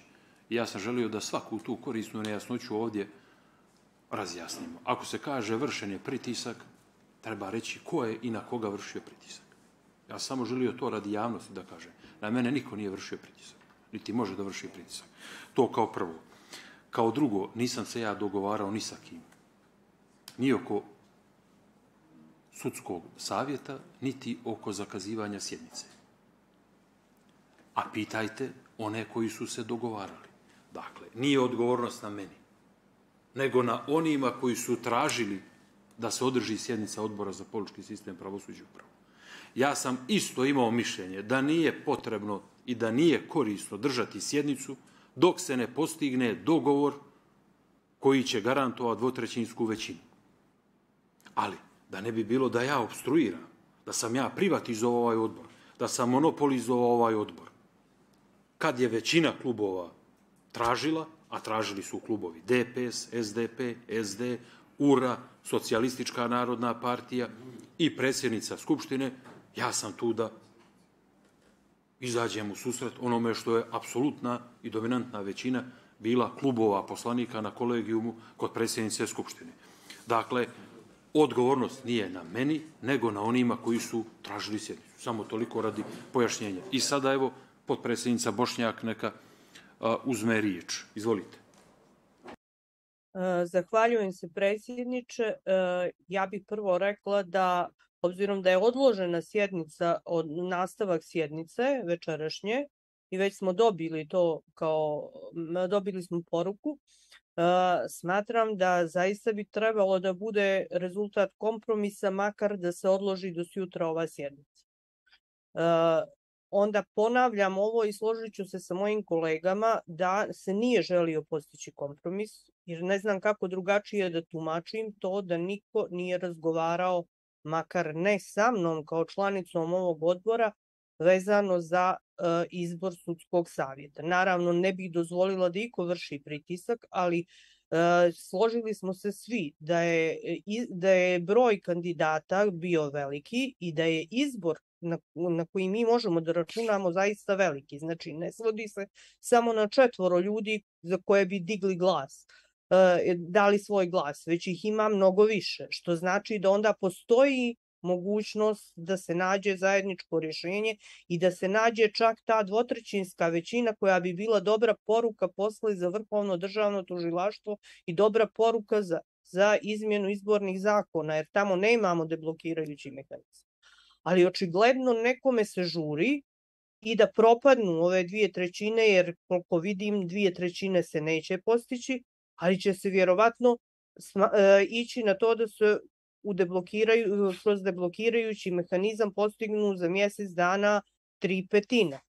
I ja sam želio da svaku tu korisnu nejasnoću ovdje razjasnimo. Ako se kaže vršen je pritisak, treba reći ko je i na koga vršio pritisak. Ja sam samo želio to radi javnosti da kažem. Na mene niko nije vršio pritisak. Niti može da vrši pritisak. To kao prvo. Kao drugo, nisam se ja dogovarao ni sa kim. Ni oko sudskog savjeta, niti oko zakazivanja sjednice. A pitajte one koji su se dogovarali. Dakle, nije odgovornost na meni, nego na onima koji su tražili da se održi sjednica odbora za politički sistem, pravosuđe i upravu. Ja sam isto imao mišljenje da nije potrebno i da nije korisno držati sjednicu dok se ne postigne dogovor koji će garantovati dvotrećinsku većinu. Ali, da ne bi bilo da ja obstruiram, da sam ja privatizovao ovaj odbor, da sam monopolizovao ovaj odbor. Kad je većina klubova tražila, a tražili su klubovi D P S, S D P, S D, U R A, Socijalistička narodna partija i predsjednica Skupštine, ja sam tu da izađem u susret onome što je apsolutna i dominantna većina bila klubova poslanika na kolegijumu kod predsjednice Skupštine. Dakle, odgovornost nije na meni, nego na onima koji su tražili sjednicu. Samo toliko radi pojašnjenja. I sada, evo, potpredsjednica Bošnjak neka a, uzme riječ. Izvolite. Zahvaljujem se, predsjedniče. Ja bih prvo rekla da, obzirom da je odložena sjednica, od nastavak sjednice večerašnje, i već smo dobili to kao, dobili smo poruku, smatram da zaista bi trebalo da bude rezultat kompromisa, makar da se odloži do sutra ova sjednica. Onda ponavljam ovo i složit ću se sa mojim kolegama da se nije želio postići kompromis, jer ne znam kako drugačije da tumačim to da niko nije razgovarao, makar ne sa mnom kao članicom ovog odbora, vezano za uh, izbor sudskog savjeta. Naravno, ne bih dozvolila da iko vrši pritisak, ali uh, složili smo se svi da je, da je broj kandidata bio veliki i da je izbor na, na koji mi možemo da računamo zaista veliki. Znači, ne svodi se samo na četvoro ljudi za koje bi digli glas, uh, dali svoj glas, već ih ima mnogo više, što znači da onda postoji mogućnost da se nađe zajedničko rješenje i da se nađe čak ta dvotrećinska većina koja bi bila dobra poruka posle za Vrhovno državno tužilaštvo i dobra poruka za, za izmjenu izbornih zakona, jer tamo nemamo deblokirajući mehanizam. Ali očigledno nekome se žuri i da propadnu ove dvije trećine, jer koliko vidim dvije trećine se neće postići, ali će se vjerovatno sma, e, ići na to da se u deblokiraju, kroz deblokirajući mehanizam postignu za mjesec dana tri petine.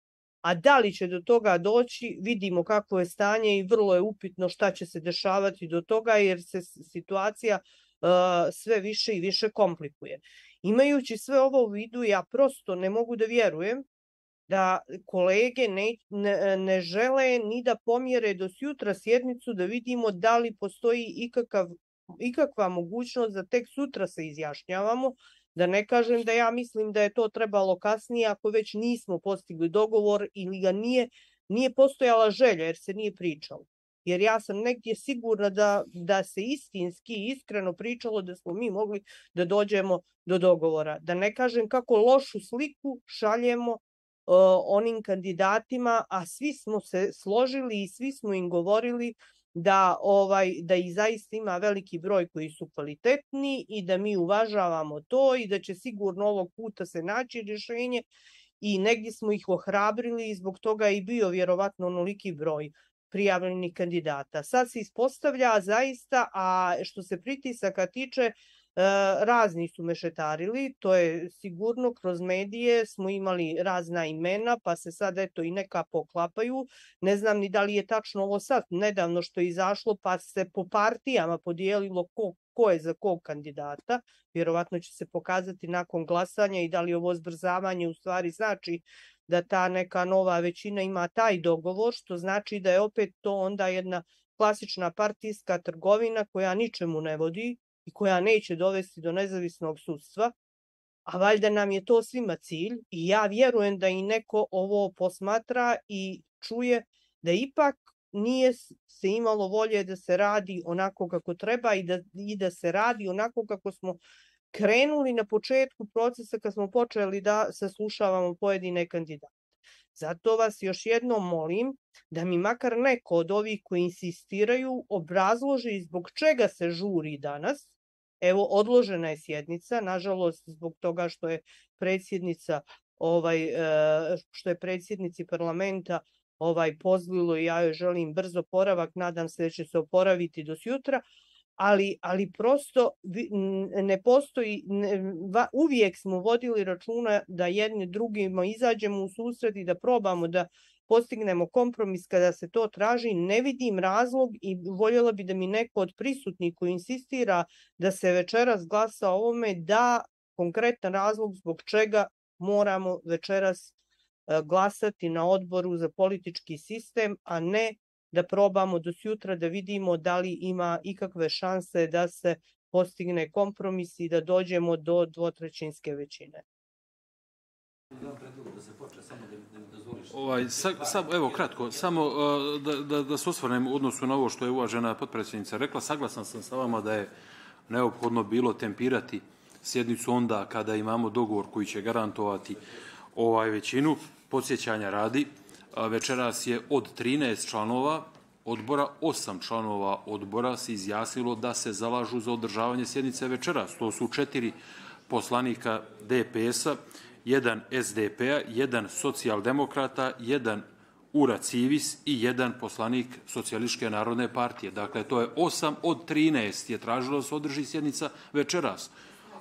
A da li će do toga doći, vidimo kakvo je stanje i vrlo je upitno šta će se dešavati do toga, jer se situacija uh, sve više i više komplikuje. Imajući sve ovo u vidu, ja prosto ne mogu da vjerujem da kolege ne, ne, ne žele ni da pomjere do sutra sjednicu da vidimo da li postoji ikakav ikakva mogućnost da tek sutra se izjašnjavamo, da ne kažem da ja mislim da je to trebalo kasnije ako već nismo postigli dogovor ili ga nije, nije postojala želja jer se nije pričalo. Jer ja sam negdje sigurna da, da se istinski i iskreno pričalo da smo mi mogli da dođemo do dogovora. Da ne kažem kako lošu sliku šaljemo uh, onim kandidatima, a svi smo se složili i svi smo im govorili da ovaj da ih zaista ima veliki broj koji su kvalitetni i da mi uvažavamo to i da će sigurno ovog puta se naći rješenje i negdje smo ih ohrabrili i zbog toga i bio vjerovatno onoliki broj prijavljenih kandidata. Sad se ispostavlja zaista, a što se pritisaka tiče, razni su mešetarili, to je sigurno, kroz medije smo imali razna imena, pa se sad eto i neka poklapaju. Ne znam ni da li je tačno ovo sad nedavno što je izašlo, pa se po partijama podijelilo ko, ko je za kog kandidata. Vjerovatno će se pokazati nakon glasanja i da li ovo zbrzavanje u stvari znači da ta neka nova većina ima taj dogovor, što znači da je opet to onda jedna klasična partijska trgovina koja ničemu ne vodi i koja neće dovesti do nezavisnog sudstva, a valjda nam je to svima cilj i ja vjerujem da i neko ovo posmatra i čuje da ipak nije se imalo volje da se radi onako kako treba i da, i da se radi onako kako smo krenuli na početku procesa kad smo počeli da saslušavamo pojedine kandidate. Zato vas još jednom molim da mi makar neko od ovih koji insistiraju obrazloži zbog čega se žuri danas. Evo, odložena je sjednica, nažalost zbog toga što je predsjednica ovaj što je predsjednici parlamenta ovaj pozlilo i ja joj želim brzo oporavak, nadam se da će se oporaviti do sutra, ali, ali prosto ne postoji, ne, va, uvijek smo vodili računa da jedni drugima izađemo u susret i da probamo da postignemo kompromis kada se to traži. Ne vidim razlog i voljela bi da mi neko od prisutnih koji insistira da se večeras glasa o ovome da konkretan razlog zbog čega moramo večeras glasati na odboru za politički sistem, a ne da probamo do sutra da vidimo da li ima ikakve šanse da se postigne kompromis i da dođemo do dvotrećinske većine. Ovaj, sa, sa, evo, kratko, samo uh, da, da, da se osvrnem u odnosu na ovo što je uvažena potpredsjednica rekla. Saglasan sam sa vama da je neophodno bilo tempirati sjednicu onda kada imamo dogovor koji će garantovati ovaj većinu. Podsjećanja radi, večeras je od trinaest članova odbora, osam članova odbora se izjasnilo da se zalažu za održavanje sjednice večeras. To su četiri poslanika D P S-a, jedan S D P-a, jedan socijaldemokrata, jedan Ura Civis i jedan poslanik Socijalističke narodne partije. Dakle, to je osam od trinaest je tražilo da se održi sjednica večeras.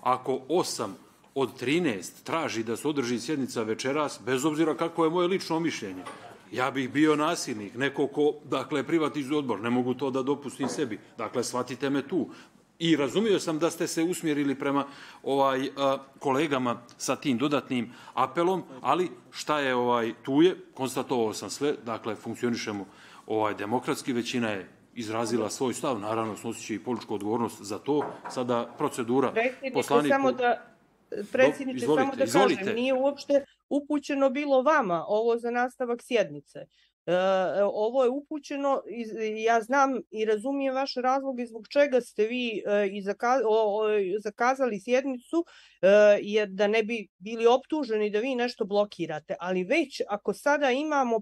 Ako osam od trinaest traži da se održi sjednica večeras, bez obzira kako je moje lično mišljenje, ja bih bio nasilnik, neko ko, dakle, privatizuje odbor, ne mogu to da dopustim sebi. Dakle, shvatite me tu. I razumio sam da ste se usmjerili prema ovaj a, kolegama sa tim dodatnim apelom, ali šta je ovaj tu je, konstatovao sam sve, dakle, funkcionišemo ovaj demokratski, većina je izrazila svoj stav, naravno snosit će i političku odgovornost za to. Sada procedura poslaniku... Samo da... Predsjedniče, izvolite, samo da izvolite. kažem, nije uopšte upućeno bilo vama ovo za nastavak sjednice. E, ovo je upućeno, ja znam i razumijem vaše razloge zbog čega ste vi e, i zaka, o, o, zakazali sjednicu, e, jer da ne bi bili optuženi da vi nešto blokirate. Ali već ako sada imamo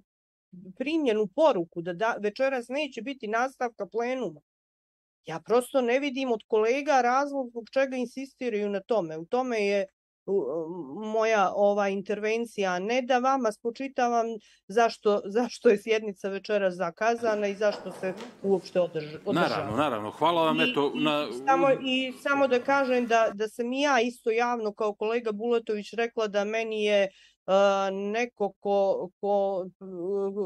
primljenu poruku da, da večeras neće biti nastavka plenuma, ja prosto ne vidim od kolega razlog zbog čega insistiraju na tome. U tome je moja ova intervencija, ne da vama spočitavam zašto, zašto je sjednica večeras zakazana i zašto se uopšte održava. Naravno, naravno. Hvala vam. I, eto, na... i, samo, I samo da kažem da, da sam i ja isto javno kao kolega Bulatović rekla da meni je Uh, neko ko, ko,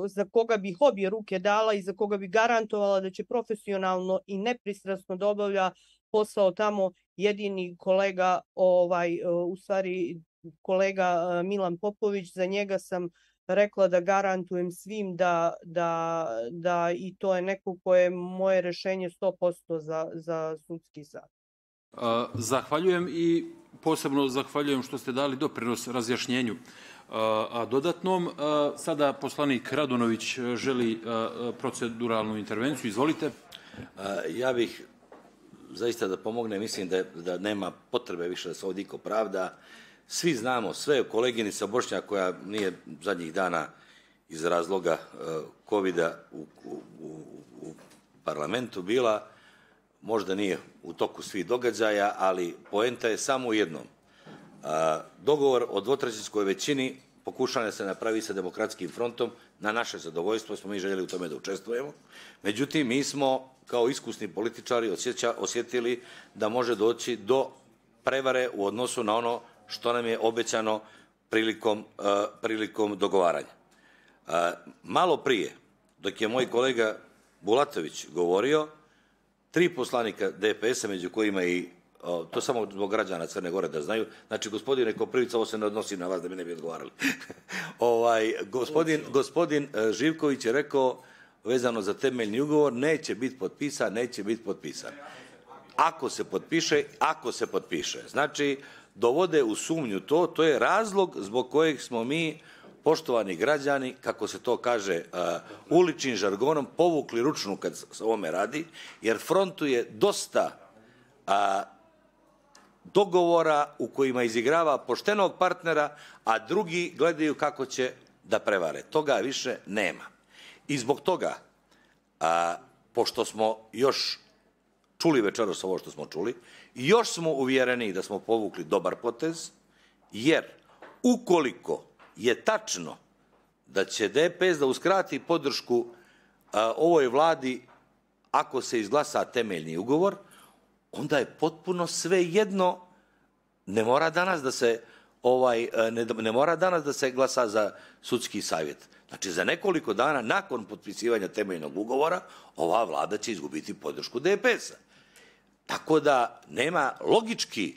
za koga bih obje ruke dala i za koga bi garantovala da će profesionalno i nepristrasno da obavlja posao tamo jedini kolega, ovaj, uh, u stvari kolega uh, Milan Popović, za njega sam rekla da garantujem svim da, da, da i to je neko koje je moje rešenje sto posto za, za sudski sad. Uh, zahvaljujem i posebno zahvaljujem što ste dali doprinos razjašnjenju. Uh, a dodatnom, uh, sada poslanik Radunović želi uh, proceduralnu intervenciju. Izvolite. Uh, ja bih zaista da pomogne, mislim da, da nema potrebe više da se ovdje iko pravda. Svi znamo, sve koleginica Bošnja koja nije zadnjih dana iz razloga uh, kovida u, u, u, u parlamentu bila, možda nije u toku svih događaja, ali poenta je samo u jednom. Dogovor o dvotrećinskoj većini pokušava se napraviti sa Demokratskim frontom. Na naše zadovoljstvo smo mi željeli u tome da učestvujemo. Međutim, mi smo kao iskusni političari osjeća, osjetili da može doći do prevare u odnosu na ono što nam je obećano prilikom, uh, prilikom dogovaranja. Uh, malo prije, dok je moj kolega Bulatović govorio, tri poslanika D P S-a, među kojima i, o, to samo zbog građana Crne Gore da znaju, znači gospodine Koprivica, ovo se ne odnosi na vas da mi ne bi odgovarali. ovaj, gospodin, gospodin Živković je rekao, vezano za temeljni ugovor, neće biti potpisan, neće biti potpisan. Ako se potpiše, ako se potpiše. Znači, dovode u sumnju to, to je razlog zbog kojeg smo mi, poštovani građani, kako se to kaže uh, uličnim žargonom, povukli ručnu kad se ovome radi, jer frontu je dosta uh, dogovora u kojima izigrava poštenog partnera, a drugi gledaju kako će da prevare. Toga više nema. I zbog toga, uh, pošto smo još čuli večeras ovo što smo čuli, još smo uvjereni da smo povukli dobar potez, jer ukoliko je tačno da će D P S da uskrati podršku a, ovoj vladi ako se izglasa temeljni ugovor, onda je potpuno sve jedno, ne mora danas da se ovaj ne, ne mora danas da se glasa za sudski savjet. Znači, za nekoliko dana nakon potpisivanja temeljnog ugovora, ova vlada će izgubiti podršku D P S-a. Tako da nema logički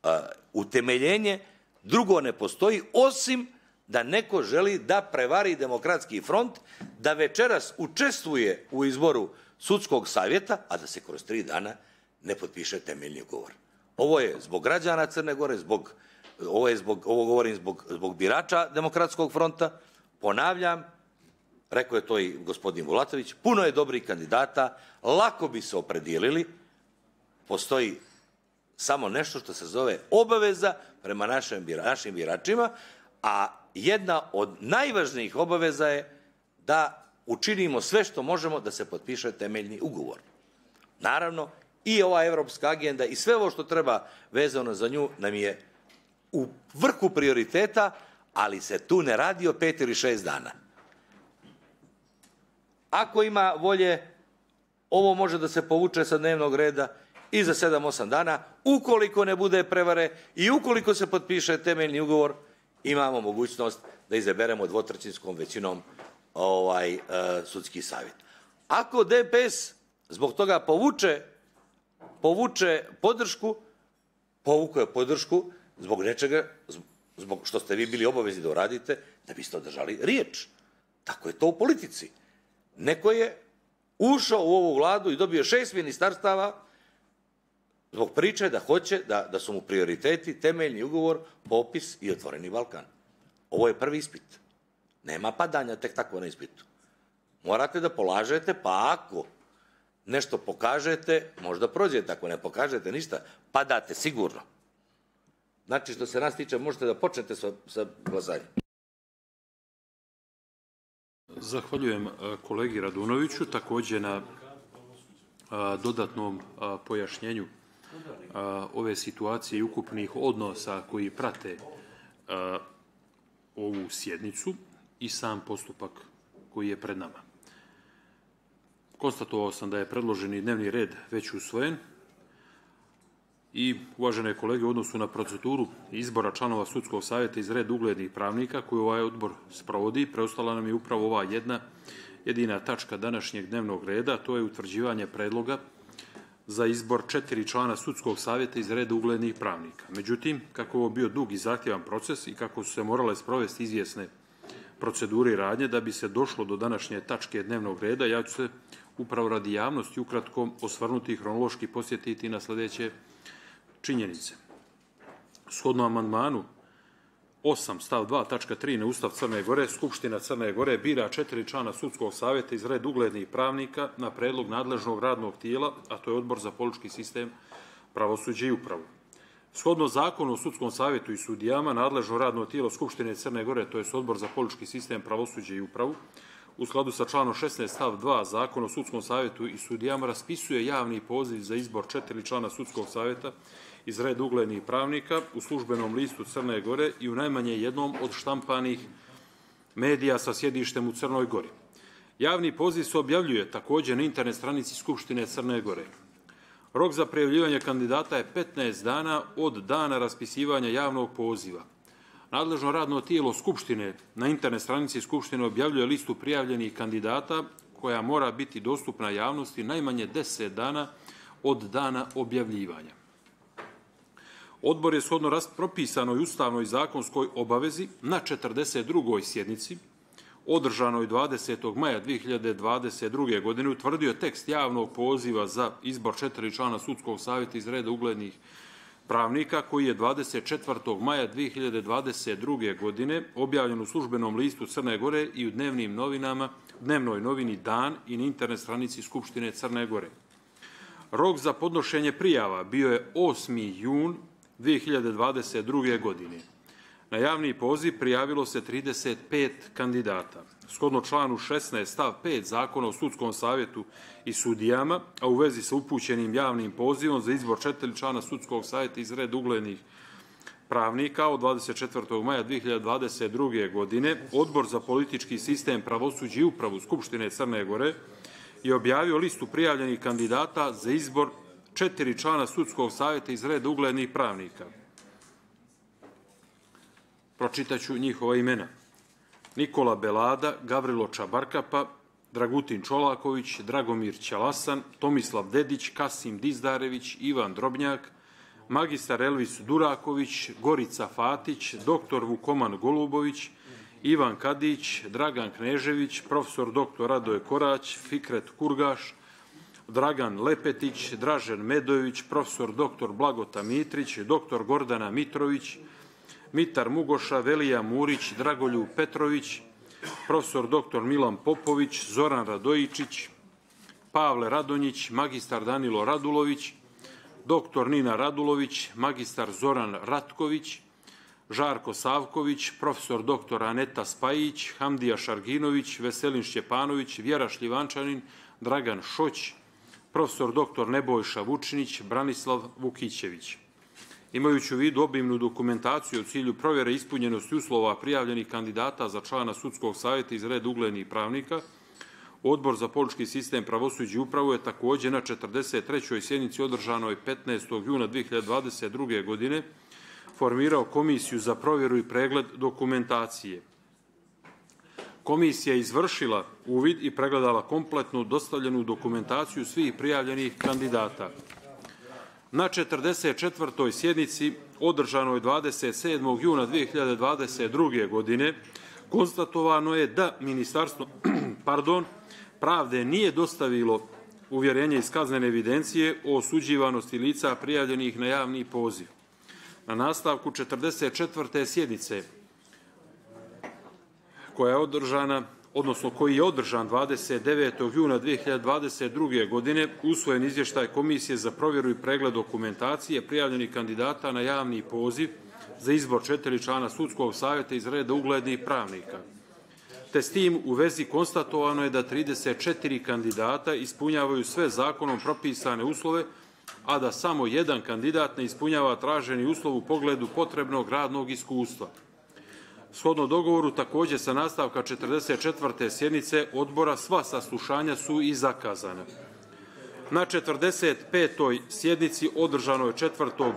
uh, utemeljenje, drugo ne postoji, osim da neko želi da prevari Demokratski front, da večeras učestvuje u izboru sudskog savjeta, a da se kroz tri dana ne potpiše temeljni ugovor. Ovo je zbog građana Crne Gore, zbog, ovo, je zbog, ovo govorim zbog, zbog birača Demokratskog fronta. Ponavljam, rekao je to i gospodin Vulatović, puno je dobrih kandidata, lako bi se opredijelili, postoji samo nešto što se zove obaveza prema našim, našim biračima, a jedna od najvažnijih obaveza je da učinimo sve što možemo da se potpiše temeljni ugovor. Naravno, i ova evropska agenda i sve ovo što treba vezano za nju nam je u vrhu prioriteta, ali se tu ne radi o pet ili šest dana. Ako ima volje, ovo može da se povuče sa dnevnog reda i za sedam osam dana, ukoliko ne bude prevare i ukoliko se potpiše temeljni ugovor, imamo mogućnost da izaberemo dvotrećinskom većinom ovaj, uh, sudski savjet. Ako D P S zbog toga povuče, povuče podršku, povuko je podršku zbog nečega, zbog što ste vi bili obavezni da uradite, da biste održali riječ. Tako je to u politici. Neko je ušao u ovu vladu i dobio šest ministarstava zbog priče da hoće da, da su mu prioriteti temeljni ugovor, popis i otvoreni Balkan. Ovo je prvi ispit. Nema padanja tek tako na ispitu. Morate da polažete, pa ako nešto pokažete, možda prođete, ako ne pokažete ništa, padate sigurno. Znači, što se nas tiče, možete da počnete sa, sa glasanjem. Zahvaljujem kolegi Radunoviću, također na a, dodatnom a, pojašnjenju a, ove situacije i ukupnih odnosa koji prate a, ovu sjednicu i sam postupak koji je pred nama. Konstatovao sam da je predloženi dnevni red već usvojen i, uvažene kolege, u odnosu na proceduru izbora članova sudskog savjeta iz reda uglednih pravnika koju ovaj odbor sprovodi, preostala nam je upravo ova jedna jedina tačka današnjeg dnevnog reda, to je utvrđivanje predloga za izbor četiri člana sudskog savjeta iz reda uglednih pravnika. Međutim, kako je ovo bio dug i zahtjevan proces i kako su se morale sprovesti izvjesne procedure i radnje da bi se došlo do današnje tačke dnevnog reda, ja ću se upravo radi javnosti ukratko osvrnuti i hronološki posjetiti na sljedeće činjenice. Shodno amandmanu osam stav dva tačka tri na Ustav Crne Gore, Skupština Crne Gore bira četiri člana sudskog savjeta iz reda uglednih pravnika na predlog nadležnog radnog tijela, a to je Odbor za politički sistem, pravosuđe i upravu. Shodno zakonu o sudskom savjetu i sudijama, nadležno radno tijelo Skupštine Crne Gore, to je Odbor za politički sistem, pravosuđe i upravu, u skladu sa članom šesnaest stav dva Zakona o sudskom savjetu i sudijama raspisuje javni poziv za izbor četiri člana sudskog savjeta iz reda uglednih pravnika u službenom listu Crne Gore i u najmanje jednom od štampanih medija sa sjedištem u Crnoj Gori. Javni poziv se objavljuje također na internet stranici Skupštine Crne Gore. Rok za prijavljivanje kandidata je petnaest dana od dana raspisivanja javnog poziva. Nadležno radno tijelo Skupštine na internet stranici Skupštine objavljuje listu prijavljenih kandidata koja mora biti dostupna javnosti najmanje deset dana od dana objavljivanja. Odbor je shodno propisanoj ustavnoj zakonskoj obavezi na četrdeset drugoj sjednici, održanoj dvadesetog maja dvije hiljade dvadeset druge. godine, utvrdio tekst javnog poziva za izbor četiri člana sudskog savjeta iz reda uglednih pravnika, koji je dvadeset četvrtog maja dvije hiljade dvadeset druge. godine objavljen u službenom listu Crne Gore i u dnevnim novinama, dnevnoj novini Dan i na internet stranici Skupštine Crne Gore. Rok za podnošenje prijava bio je osmi jun dvije hiljade dvadeset druge. godine. Na javni poziv prijavilo se trideset pet kandidata. Shodno članu šesnaest stav pet Zakona o sudskom savjetu i sudijama, a u vezi sa upućenim javnim pozivom za izbor četiri člana sudskog savjeta iz reda uglednih pravnika od dvadeset četvrtog maja dve hiljade dvadeset druge. godine Odbor za politički sistem, pravosuđe i upravu Skupštine Crne Gore je objavio listu prijavljenih kandidata za izbor četiri člana sudskog savjeta iz reda uglednih pravnika. Pročitaću njihova imena. Nikola Belada, Gavrilo Čabarkapa, Dragutin Čolaković, Dragomir Ćalasan, Tomislav Dedić, Kasim Dizdarević, Ivan Drobnjak, magistar Elvis Duraković, Gorica Fatić, doktor Vukoman Golubović, Ivan Kadić, Dragan Knežević, profesor doktor Radoje Korać, Fikret Kurgaš, Dragan Lepetić, Dražen Medojević, profesor doktor Blagota Mitrić, doktor Gordana Mitrović, Mitar Mugoša, Velija Murić, Dragoljub Petrović, profesor doktor Milan Popović, Zoran Radojičić, Pavle Radonjić, magistar Danilo Radulović, doktor Nina Radulović, magistar Zoran Ratković, Žarko Savković, profesor doktor Aneta Spajić, Hamdija Šarginović, Veselin Šćepanović, Vjera Šljivančanin, Dragan Šoć, profesor doktor Nebojša Vučinić, Branislav Vukićević. Imajući u vidu obimnu dokumentaciju u cilju provjere ispunjenosti uslova prijavljenih kandidata za člana sudskog savjeta iz reda uglednih pravnika, Odbor za politički sistem, pravosuđe i upravu je također na četrdeset trećoj sjednici održanoj petnaestog juna dve hiljade dvadeset druge. godine formirao komisiju za provjeru i pregled dokumentacije. Komisija je izvršila uvid i pregledala kompletnu dostavljenu dokumentaciju svih prijavljenih kandidata. Na četrdeset četvrtoj sjednici održanoj dvadeset sedmog juna dve hiljade dvadeset druge. godine konstatovano je da Ministarstvo pardon, pravde nije dostavilo uvjerenje iz kaznene evidencije o osuđivanosti lica prijavljenih na javni poziv. Na nastavku četrdeset četvrte sjednice koja je održana, odnosno koji je održan dvadeset devetog juna dve hiljade dvadeset druge. godine, usvojen izvještaj Komisije za provjeru i pregled dokumentacije prijavljenih kandidata na javni poziv za izbor četiri člana sudskog savjeta iz reda uglednih pravnika. Te s tim u vezi konstatovano je da trideset četiri kandidata ispunjavaju sve zakonom propisane uslove, a da samo jedan kandidat ne ispunjava traženi uslov u pogledu potrebnog radnog iskustva. Shodno dogovoru, također sa nastavka četrdeset četvrte sjednice odbora, sva saslušanja su i zakazana. Na četrdeset petoj sjednici održanoj četvrtog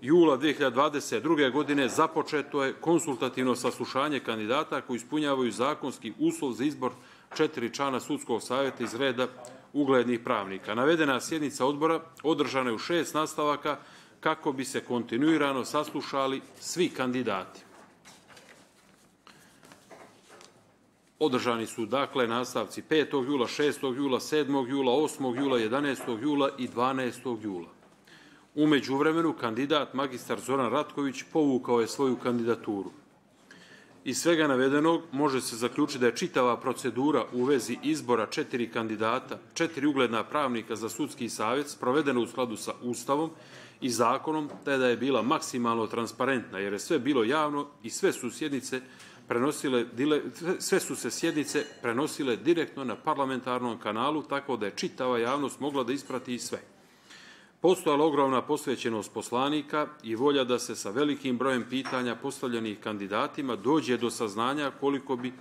jula dve hiljade dvadeset druge. godine započeto je konsultativno saslušanje kandidata koji ispunjavaju zakonski uslov za izbor četiri člana sudskog savjeta iz reda uglednih pravnika. Navedena sjednica odbora održana je u šest nastavaka kako bi se kontinuirano saslušali svi kandidati. Održani su dakle nastavci petog jula, šestog jula, sedmog jula, osmog jula, jedanaestog jula i dvanaestog jula. U međuvremenu kandidat magistar Zoran Ratković povukao je svoju kandidaturu. Iz svega navedenog može se zaključiti da je čitava procedura u vezi izbora četiri kandidata, četiri ugledna pravnika za sudski savjet sprovedena u skladu sa Ustavom i zakonom, te da je bila maksimalno transparentna, jer je sve bilo javno i sve su sjednice prenosile, sve su se sjednice prenosile direktno na parlamentarnom kanalu, tako da je čitava javnost mogla da isprati i sve. Postojala ogromna posvećenost poslanika i volja da se sa velikim brojem pitanja postavljenih kandidatima dođe do saznanja koliko bi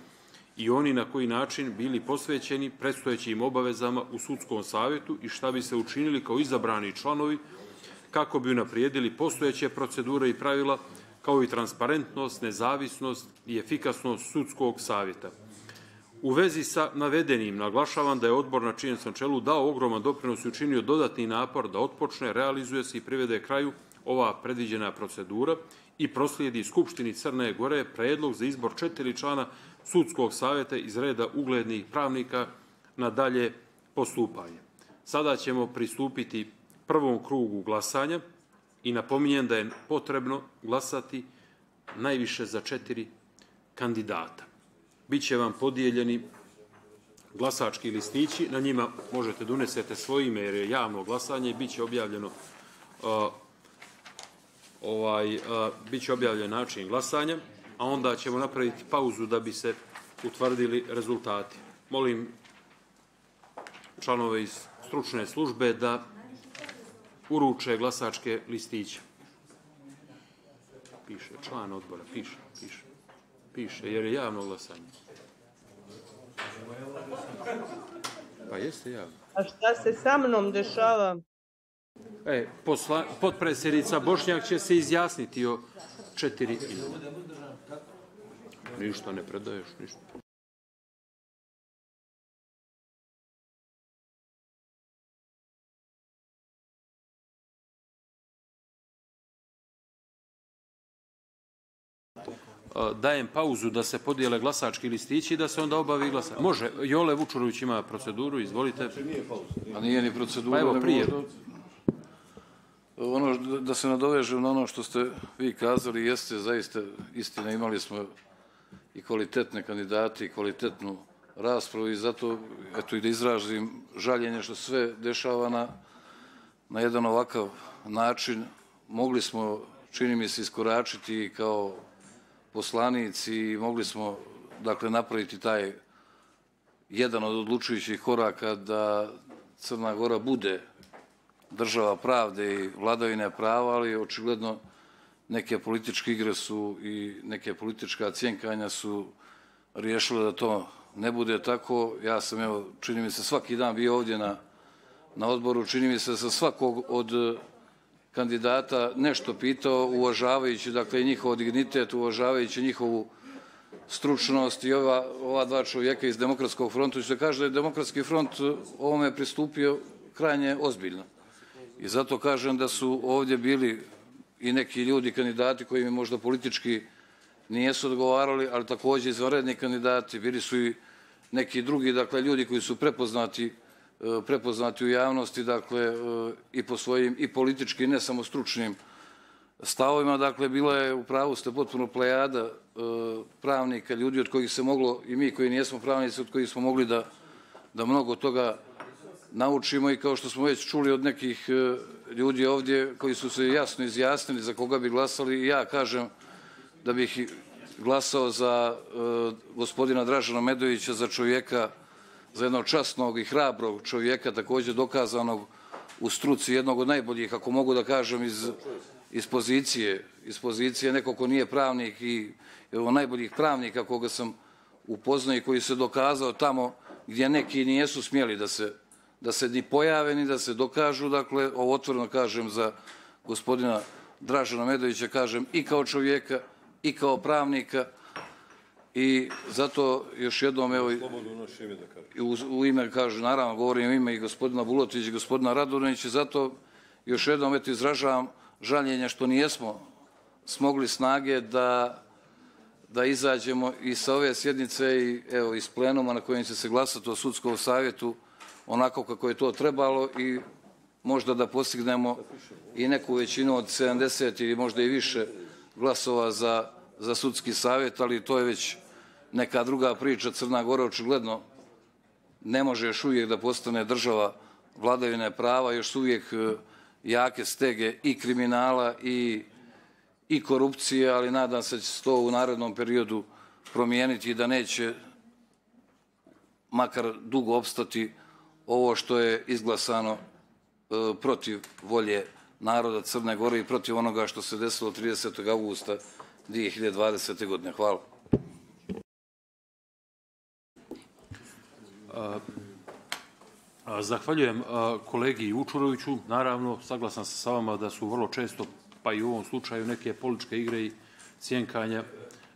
i oni na koji način bili posvećeni predstojećim obavezama u sudskom savjetu i šta bi se učinili kao izabrani članovi kako bi unaprijedili postojeće procedure i pravila, kao i transparentnost, nezavisnost i efikasnost sudskog savjeta. U vezi sa navedenim naglašavam da je odbor na čijem sam čelu dao ogroman doprinos i učinio dodatni napor da otpočne, realizuje se i privede kraju ova predviđena procedura i proslijedi Skupštini Crne Gore predlog za izbor četiri člana sudskog savjeta iz reda uglednih pravnika na dalje postupanje. Sada ćemo pristupiti prvom krugu glasanja i napominjem da je potrebno glasati najviše za četiri kandidata. Biće vam podijeljeni glasački listići, na njima možete da unesete svoje ime jer je javno glasanje, biće objavljeno uh, ovaj, uh, biće objavljen način glasanja, a onda ćemo napraviti pauzu da bi se utvrdili rezultati. Molim članove iz stručne službe da uruče glasačke listiće. piše, član odbora, piše, piše, piše, jer je javno glasanje. Pa jeste javno. A šta se sa mnom dešava? E, posla, potpredsjednica Bošnjak će se izjasniti o četiri imena. Ništa ne predaješ, ništa. Dajem pauzu da se podijele glasački listići i da se onda obavi glasanje. Može, Jole Vučurović ima proceduru, izvolite. A nije ni procedura. Pa evo, prije. Ono da se nadovežem na ono što ste vi kazali, jeste zaista istina, imali smo i kvalitetne kandidate i kvalitetnu raspravu i zato eto i da izražim žaljenje što sve dešava na, na jedan ovakav način. Mogli smo, čini mi se, iskoračiti kao poslanici i mogli smo dakle napraviti taj jedan od odlučujućih koraka da Crna Gora bude država pravde i vladavine prava, ali očigledno neke političke igre su i neke politička cjenkanja su riješile da to ne bude tako. Ja sam, evo, čini mi se, svaki dan bio ovdje na, na odboru, čini mi se sa svakog od kandidata nešto pitao, uvažavajući dakle njihov dignitet, uvažavajući njihovu stručnost i ova, ova dva čovjeka iz Demokratskog fronta, što kaže da je Demokratski front ovome pristupio krajnje ozbiljno. I zato kažem da su ovdje bili i neki ljudi, kandidati koji mi možda politički nijesu odgovarali, ali također izvanredni kandidati, bili su i neki drugi, dakle, ljudi koji su prepoznati, prepoznati u javnosti, dakle, i po svojim i politički, ne samo stručnim stavovima. Dakle, bila je, u pravu ste, potpuno plejada pravnika, ljudi od kojih se moglo, i mi koji nijesmo pravnici, od kojih smo mogli da, da mnogo toga naučimo i kao što smo već čuli od nekih ljudi ovdje koji su se jasno izjasnili za koga bi glasali, i ja kažem da bih glasao za gospodina Dražana Medovića, za čovjeka, za jednog časnog i hrabrog čovjeka, također dokazanog u struci, jednog od najboljih, ako mogu da kažem, iz, iz pozicije, iz pozicije neko ko nije pravnik i jednog najboljih pravnika koga sam upoznao i koji se dokazao tamo gdje neki nijesu smjeli da se da se ni pojave, ni da se dokažu. Dakle, ovo otvoreno kažem za gospodina Dražana Medovića, kažem i kao čovjeka, i kao pravnika, i zato još jednom, evo, u, u ime, kažem, naravno, govorim u ime i gospodina Bulatovića i gospodina Radovanovića, zato još jednom, eto, izražavam žaljenje što nijesmo smogli snage da, da izađemo i sa ove sjednice i, evo, iz plenuma na kojem će se glasati o sudskom savjetu onako kako je to trebalo i možda da postignemo i neku većinu od sedamdeset ili možda i više glasova za, za sudski savjet, ali to je već neka druga priča. Crna Gora očigledno ne može još uvijek da postane država vladavine prava, još uvijek jake stege i kriminala i, i korupcije, ali nadam se da će se to u narednom periodu promijeniti i da neće makar dugo opstati ovo što je izglasano e, protiv volje naroda Crne Gore i protiv onoga što se desilo tridesetog avgusta dvije hiljade dvadesete. godine. Hvala. A, a, zahvaljujem a, kolegi Vučuroviću. Naravno, saglasan sam sa vama da su vrlo često, pa i u ovom slučaju, neke političke igre i cjenkanja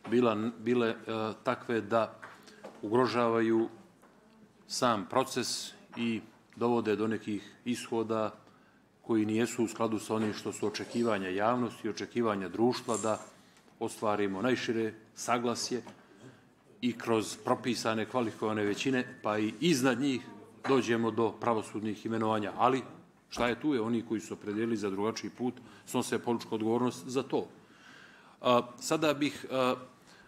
bila, bile a, takve da ugrožavaju sam proces i dovode do nekih ishoda koji nijesu u skladu sa onim što su očekivanja javnosti i očekivanja društva da ostvarimo najšire saglasje i kroz propisane kvalifikovane većine, pa i iznad njih dođemo do pravosudnih imenovanja. Ali šta je tu je? Oni koji su opredijelili za drugačiji put snose političku odgovornost za to. A, sada bih a,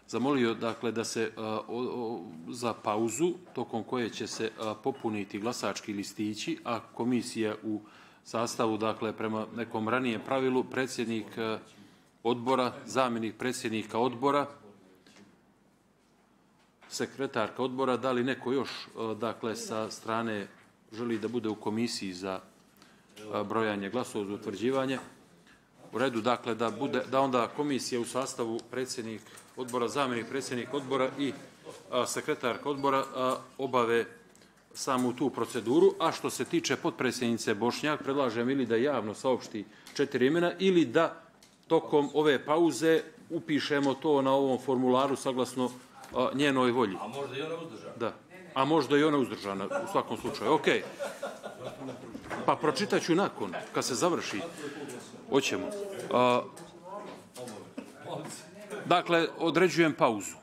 zamolio, dakle, da se a, o, o, za pauzu, tokom koje će se a, popuniti glasački listići, a komisija u sastavu, dakle, prema nekom ranijem pravilu, predsjednik a, odbora, zamjenik predsjednika odbora, sekretarka odbora, da li neko još, a, dakle, sa strane želi da bude u komisiji za a, brojanje glasova, za utvrđivanje. U redu, dakle, da, bude, da onda komisija u sastavu predsjednik odbora, zamjenik predsjednik odbora i a, sekretarka odbora a, obave samu tu proceduru, a što se tiče potpredsjednice Bošnjak, predlažem ili da javno saopšti četiri imena ili da tokom ove pauze upišemo to na ovom formularu saglasno a, njenoj volji. A možda i ona uzdržana. Da, a možda i ona uzdržana u svakom slučaju. Ok. Pa pročitat ću nakon, kad se završi. Hoćemo. A, dakle, određujem pauzu.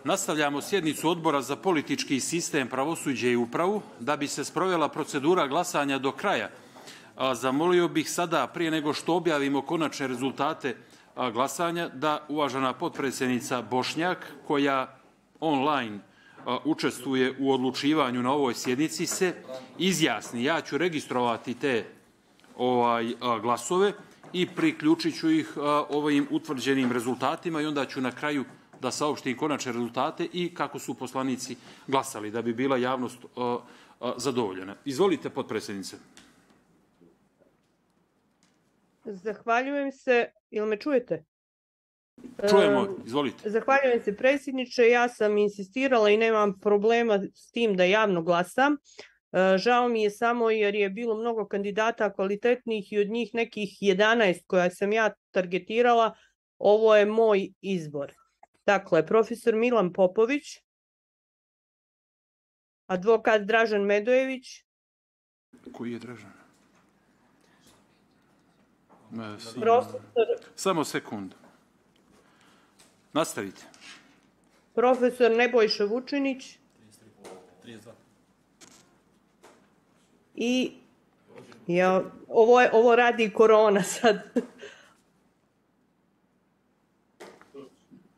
Nastavljamo sjednicu Odbora za politički sistem, pravosuđe i upravu. Da bi se sprovela procedura glasanja do kraja, zamolio bih sada, prije nego što objavimo konačne rezultate glasanja, da uvažena potpredsjednica Bošnjak, koja online učestvuje u odlučivanju na ovoj sjednici, se izjasni. Ja ću registrovati te ovaj, glasove i priključit ću ih ovim utvrđenim rezultatima i onda ću na kraju da saopštim konačne rezultate i kako su poslanici glasali, da bi bila javnost zadovoljena. Izvolite, potpredsjednice. Zahvaljujem se. Jel me čujete? Čujemo, izvolite. Zahvaljujem se, predsjedniče. Ja sam insistirala i nemam problema s tim da javno glasam. Žao mi je samo jer je bilo mnogo kandidata kvalitetnih i od njih nekih jedanaest koja sam ja targetirala. Ovo je moj izbor. Dakle, profesor Milan Popović, advokat Dražen Medojević. Koji je Dražen? Profesor... Samo sekund. Nastavite. Profesor Nebojša Vučinić. I ja, ovo, je, ovo radi korona sad.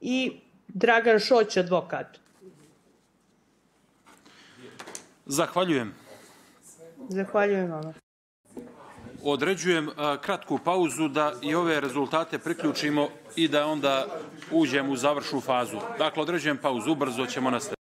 I Dragan Šoć, advokat. Zahvaljujem. Zahvaljujem vama. Određujem kratku pauzu da i ove rezultate priključimo i da onda uđemo u završnu fazu. Dakle, određujem pauzu, ubrzo ćemo nastaviti.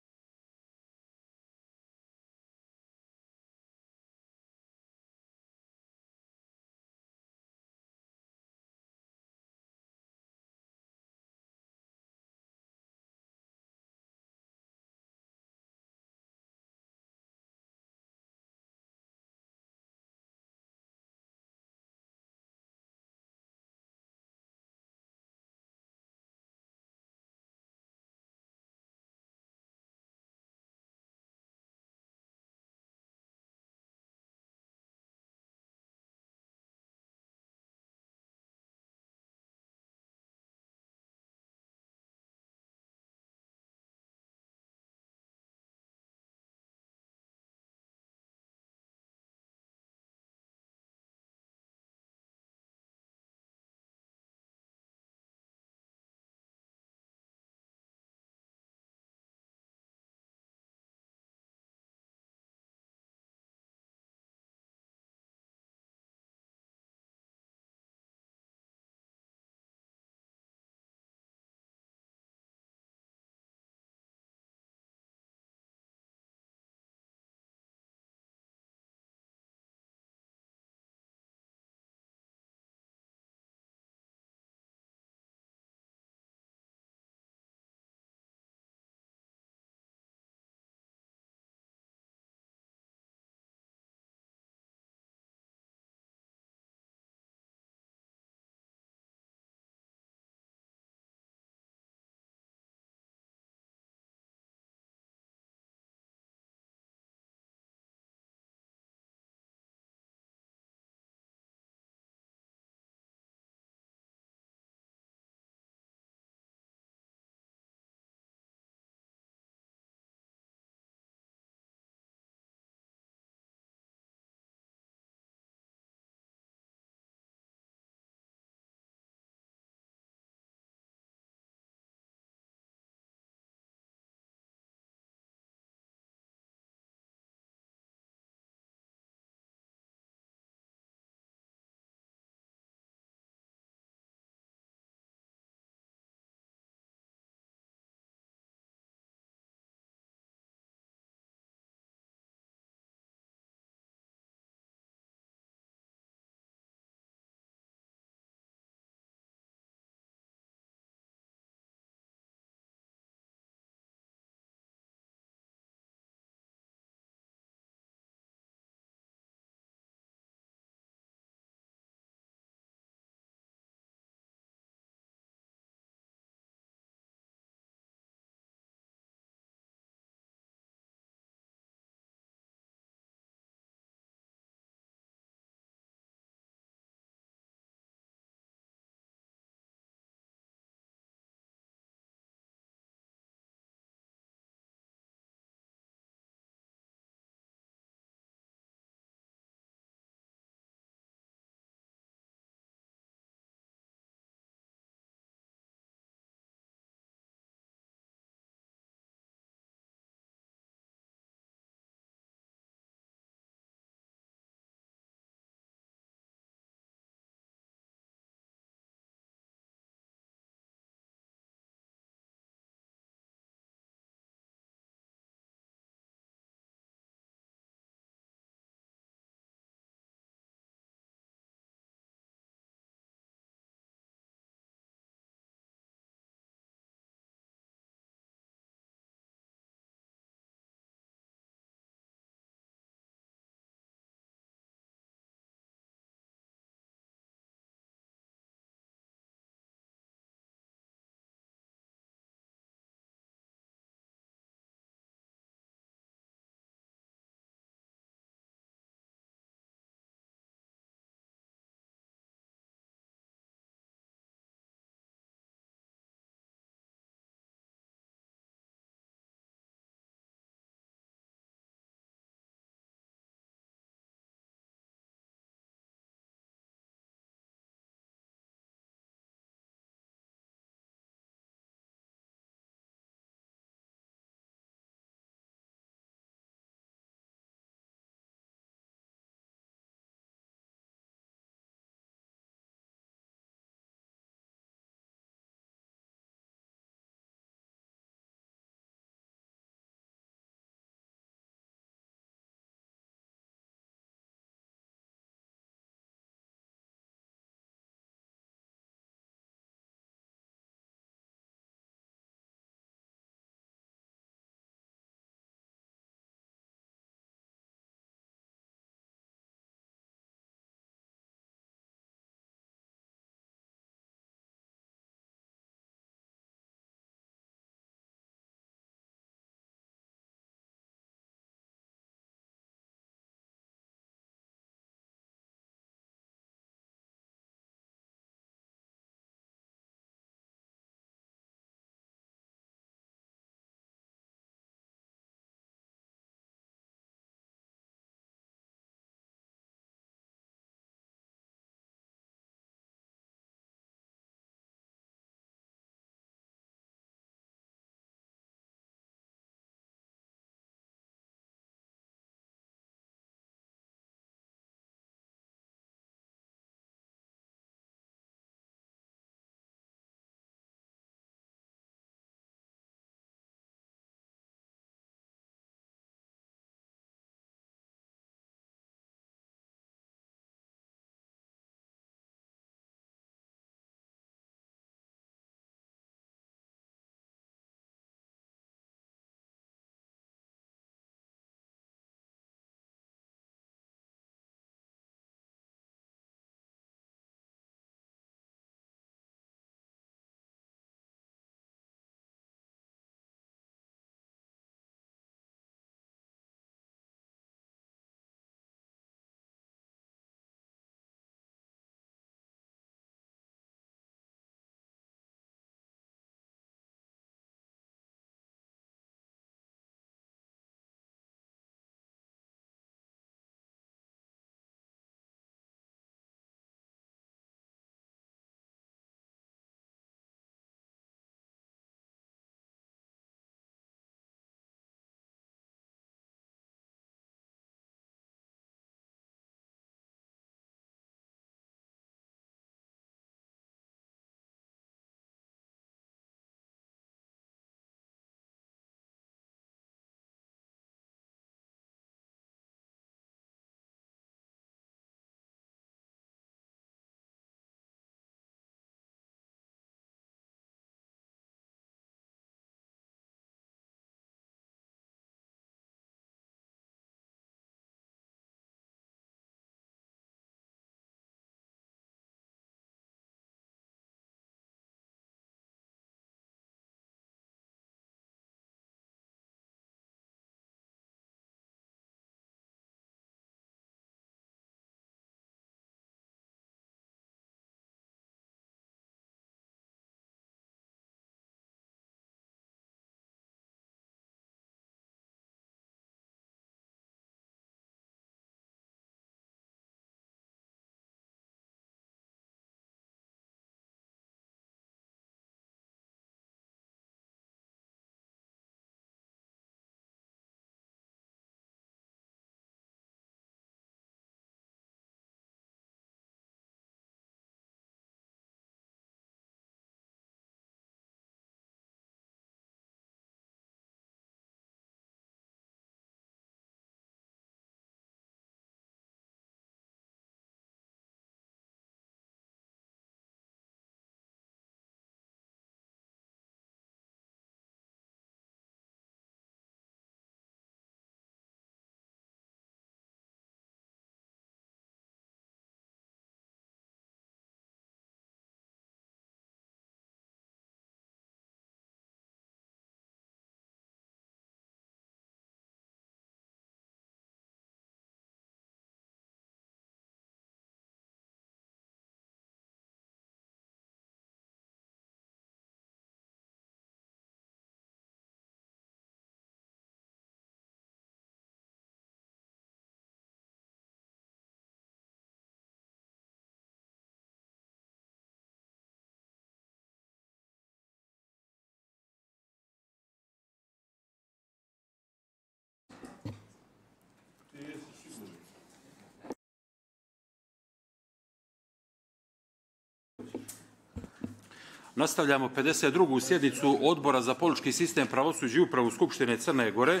Nastavljamo pedeset drugu sjednicu Odbora za politički sistem, pravosuđe i upravu Skupštine Crne Gore.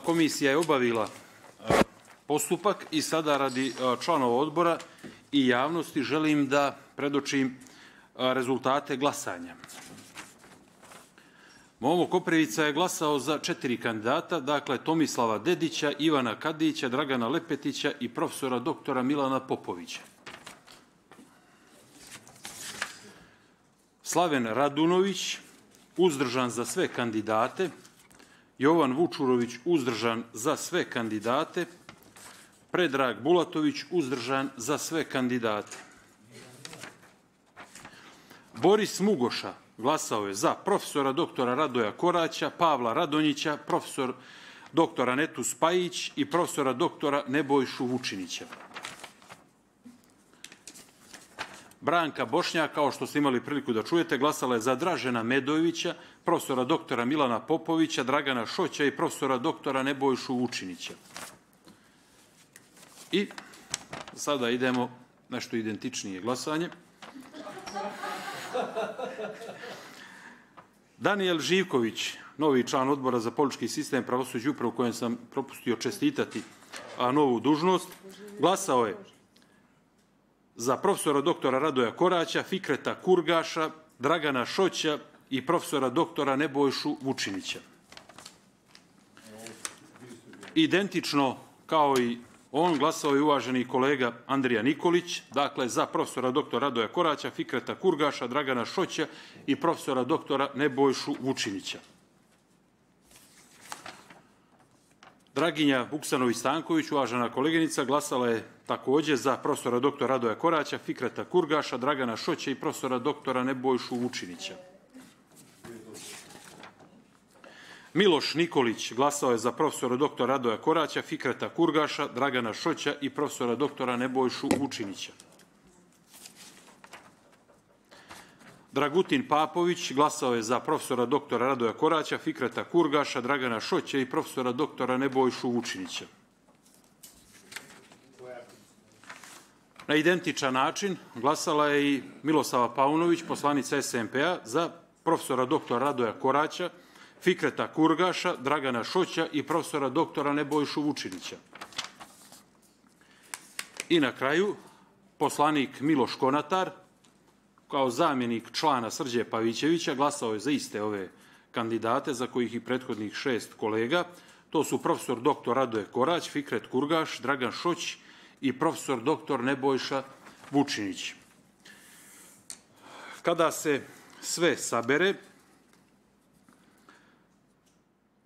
Komisija je obavila postupak i sada radi članova odbora i javnosti želim da predočim rezultate glasanja. Momo Koprivica je glasao za četiri kandidata, dakle Tomislava Dedića, Ivana Kadića, Dragana Lepetića i profesora doktora Milana Popovića. Slaven Radunović, uzdržan za sve kandidate. Jovan Vučurović, uzdržan za sve kandidate. Predrag Bulatović, uzdržan za sve kandidate. Boris Mugoša glasao je za profesora doktora Radoja Koraća, Pavla Radonjića, profesor doktora Netu Spajić i profesora doktora Nebojšu Vučinića. Branka Bošnjak, kao što ste imali priliku da čujete, glasala je za Dražena Medojevića, profesora doktora Milana Popovića, Dragana Šoća i profesora doktora Nebojšu Vučinića. I sada idemo nešto identičnije glasanje. Daniel Živković, novi član Odbora za politički sistem, pravosuđe i upravu, kojem sam propustio čestitati a novu dužnost, glasao je za profesora doktora Radoja Koraća, Fikreta Kurgaša, Dragana Šoća i profesora doktora Nebojšu Vučinića. Identično kao i on glasao je uvaženi kolega Andrija Nikolić, dakle za profesora doktora Radoja Koraća, Fikreta Kurgaša, Dragana Šoća i profesora doktora Nebojšu Vučinića. Draginja Vuksanović-Stanković, uvažena koleginica, glasala je također za profesora doktora Radoja Koraća, Fikreta Kurgaša, Dragana Šoća i profesora doktora Nebojšu Vučinića. Miloš Nikolić glasao je za profesora doktora Radoja Koraća, Fikreta Kurgaša, Dragana Šoća i profesora doktora Nebojšu Vučinića. Dragutin Papović glasao je za profesora doktora Radoja Koraća, Fikreta Kurgaša, Dragana Šoća i profesora doktora Nebojšu Vučinića. Na identičan način glasala je i Milosava Paunović, poslanica S M P-a, za profesora doktora Radoja Koraća, Fikreta Kurgaša, Dragana Šoća i profesora doktora Nebojšu Vučinića. I na kraju, poslanik Miloš Konatar, kao zamjenik člana Srđe Pavićevića, glasao je za iste ove kandidate, za kojih i prethodnih šest kolega. To su profesor doktor Radoje Korać, Fikret Kurgaš, Dragan Šoć i profesor doktor Nebojša Vučinić. Kada se sve sabere,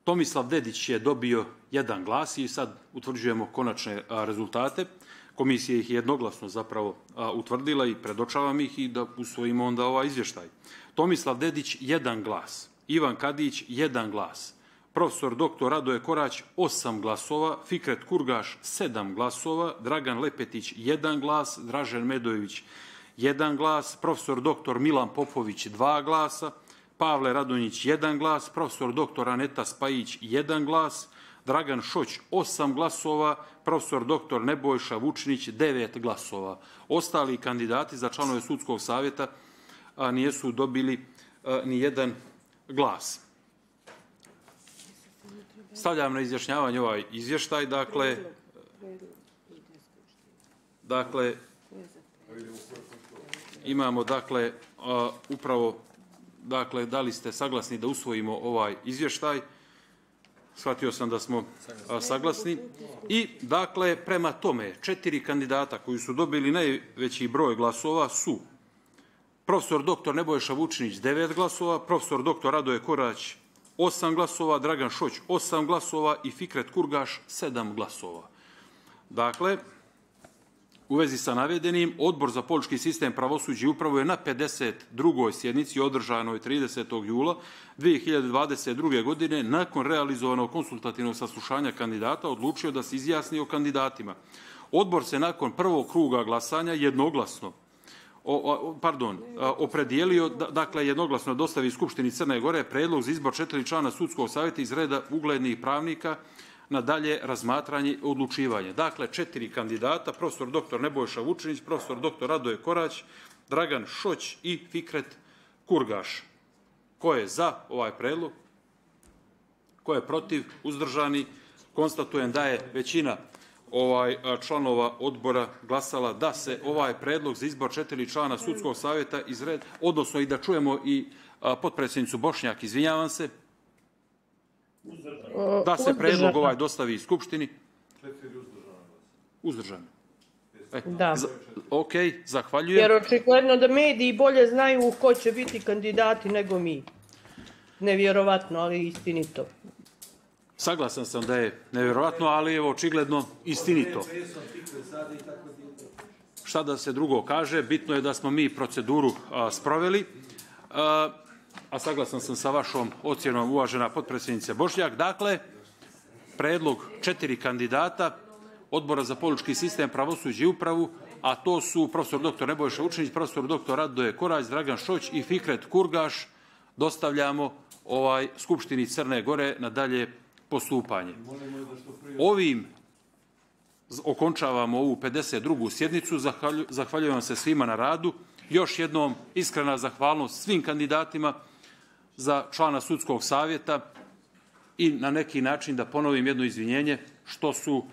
Tomislav Dedić je dobio jedan glas i sad utvrđujemo konačne rezultate. Komisija ih je jednoglasno zapravo utvrdila i predočavam ih i da usvojimo onda ovaj izvještaj. Tomislav Dedić, jedan glas. Ivan Kadić, jedan glas. Profesor doktor Radoje Korać, osam glasova. Fikret Kurgaš, sedam glasova. Dragan Lepetić, jedan glas. Dražen Medojević, jedan glas. Profesor doktor Milan Popović, dva glasa. Pavle Radonjić, jedan glas. Profesor doktor Aneta Spajić, jedan glas. Dragan Šoć, osam glasova, profesor doktor Nebojša Vučinić, devet glasova. Ostali kandidati za članove sudskog savjeta nisu dobili ni jedan glas. Stavljam na izjašnjavanje ovaj izvještaj, dakle, dakle, imamo, dakle, upravo, dakle, da li ste saglasni da usvojimo ovaj izvještaj? Shvatio sam da smo saglasni. I, dakle, prema tome, četiri kandidata koji su dobili najveći broj glasova su profesor doktor Nebojša Vučinić, devet glasova, profesor doktor Radoje Korać, osam glasova, Dragan Šoć, osam glasova i Fikret Kurgaš, sedam glasova. Dakle, u vezi sa navedenim, Odbor za politički sistem, pravosuđe i upravu je na pedeset drugoj sjednici održanoj tridesetog jula dvije hiljade dvadeset druge. godine nakon realizovanog konsultativnog saslušanja kandidata odlučio da se izjasni o kandidatima. Odbor se nakon prvog kruga glasanja jednoglasno O, o, pardon, opredijelio, dakle, jednoglasno dostavi Skupštini Crne Gore predlog za izbor četiri člana sudskog savjeta iz reda uglednih pravnika na dalje razmatranje i odlučivanje. Dakle, četiri kandidata, profesor doktor Nebojša Vučinić, profesor doktor Radoje Korać, Dragan Šoć i Fikret Kurgaš. Ko je za ovaj predlog? Ko je protiv? Uzdržani? Konstatujem da je većina ovaj članova odbora glasala da se ovaj predlog za izbor četiri člana sudskog savjeta izred, odnosno i da čujemo i potpredsjednicu Bošnjak, izvinjavam se, da se predlog ovaj dostavi Skupštini. Uzdržani. E, da. Za, ok, zahvaljujem. Jer očigledno da mediji bolje znaju ko će biti kandidati nego mi. Nevjerovatno, ali istinito. Saglasan sam da je nevjerovatno, ali je očigledno istinito. Šta da se drugo kaže, bitno je da smo mi proceduru a, sproveli, a, a saglasan sam sa vašom ocjenom, uvažena potpredsjednice Bošnjak. Dakle, predlog četiri kandidata Odbora za politički sistem, pravosuđe i upravu, a to su profesor doktor Nebojša Učinić, profesor doktor Radoje Korać, Dragan Šoć i Fikret Kurgaš, dostavljamo ovaj Skupštini Crne Gore na dalje postupanje. Ovim okončavamo ovu pedeset drugu sjednicu. Zahvaljujem se svima na radu. Još jednom iskrena zahvalnost svim kandidatima za člana sudskog savjeta i na neki način da ponovim jedno izvinjenje što su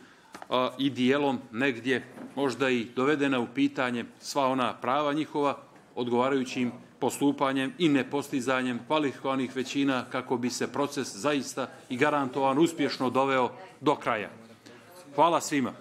a, i dijelom negdje možda i dovedena u pitanje sva ona prava njihova odgovarajućim postupanjem i nepostizanjem kvalifikovanih većina kako bi se proces zaista i garantovan uspješno doveo do kraja. Hvala svima.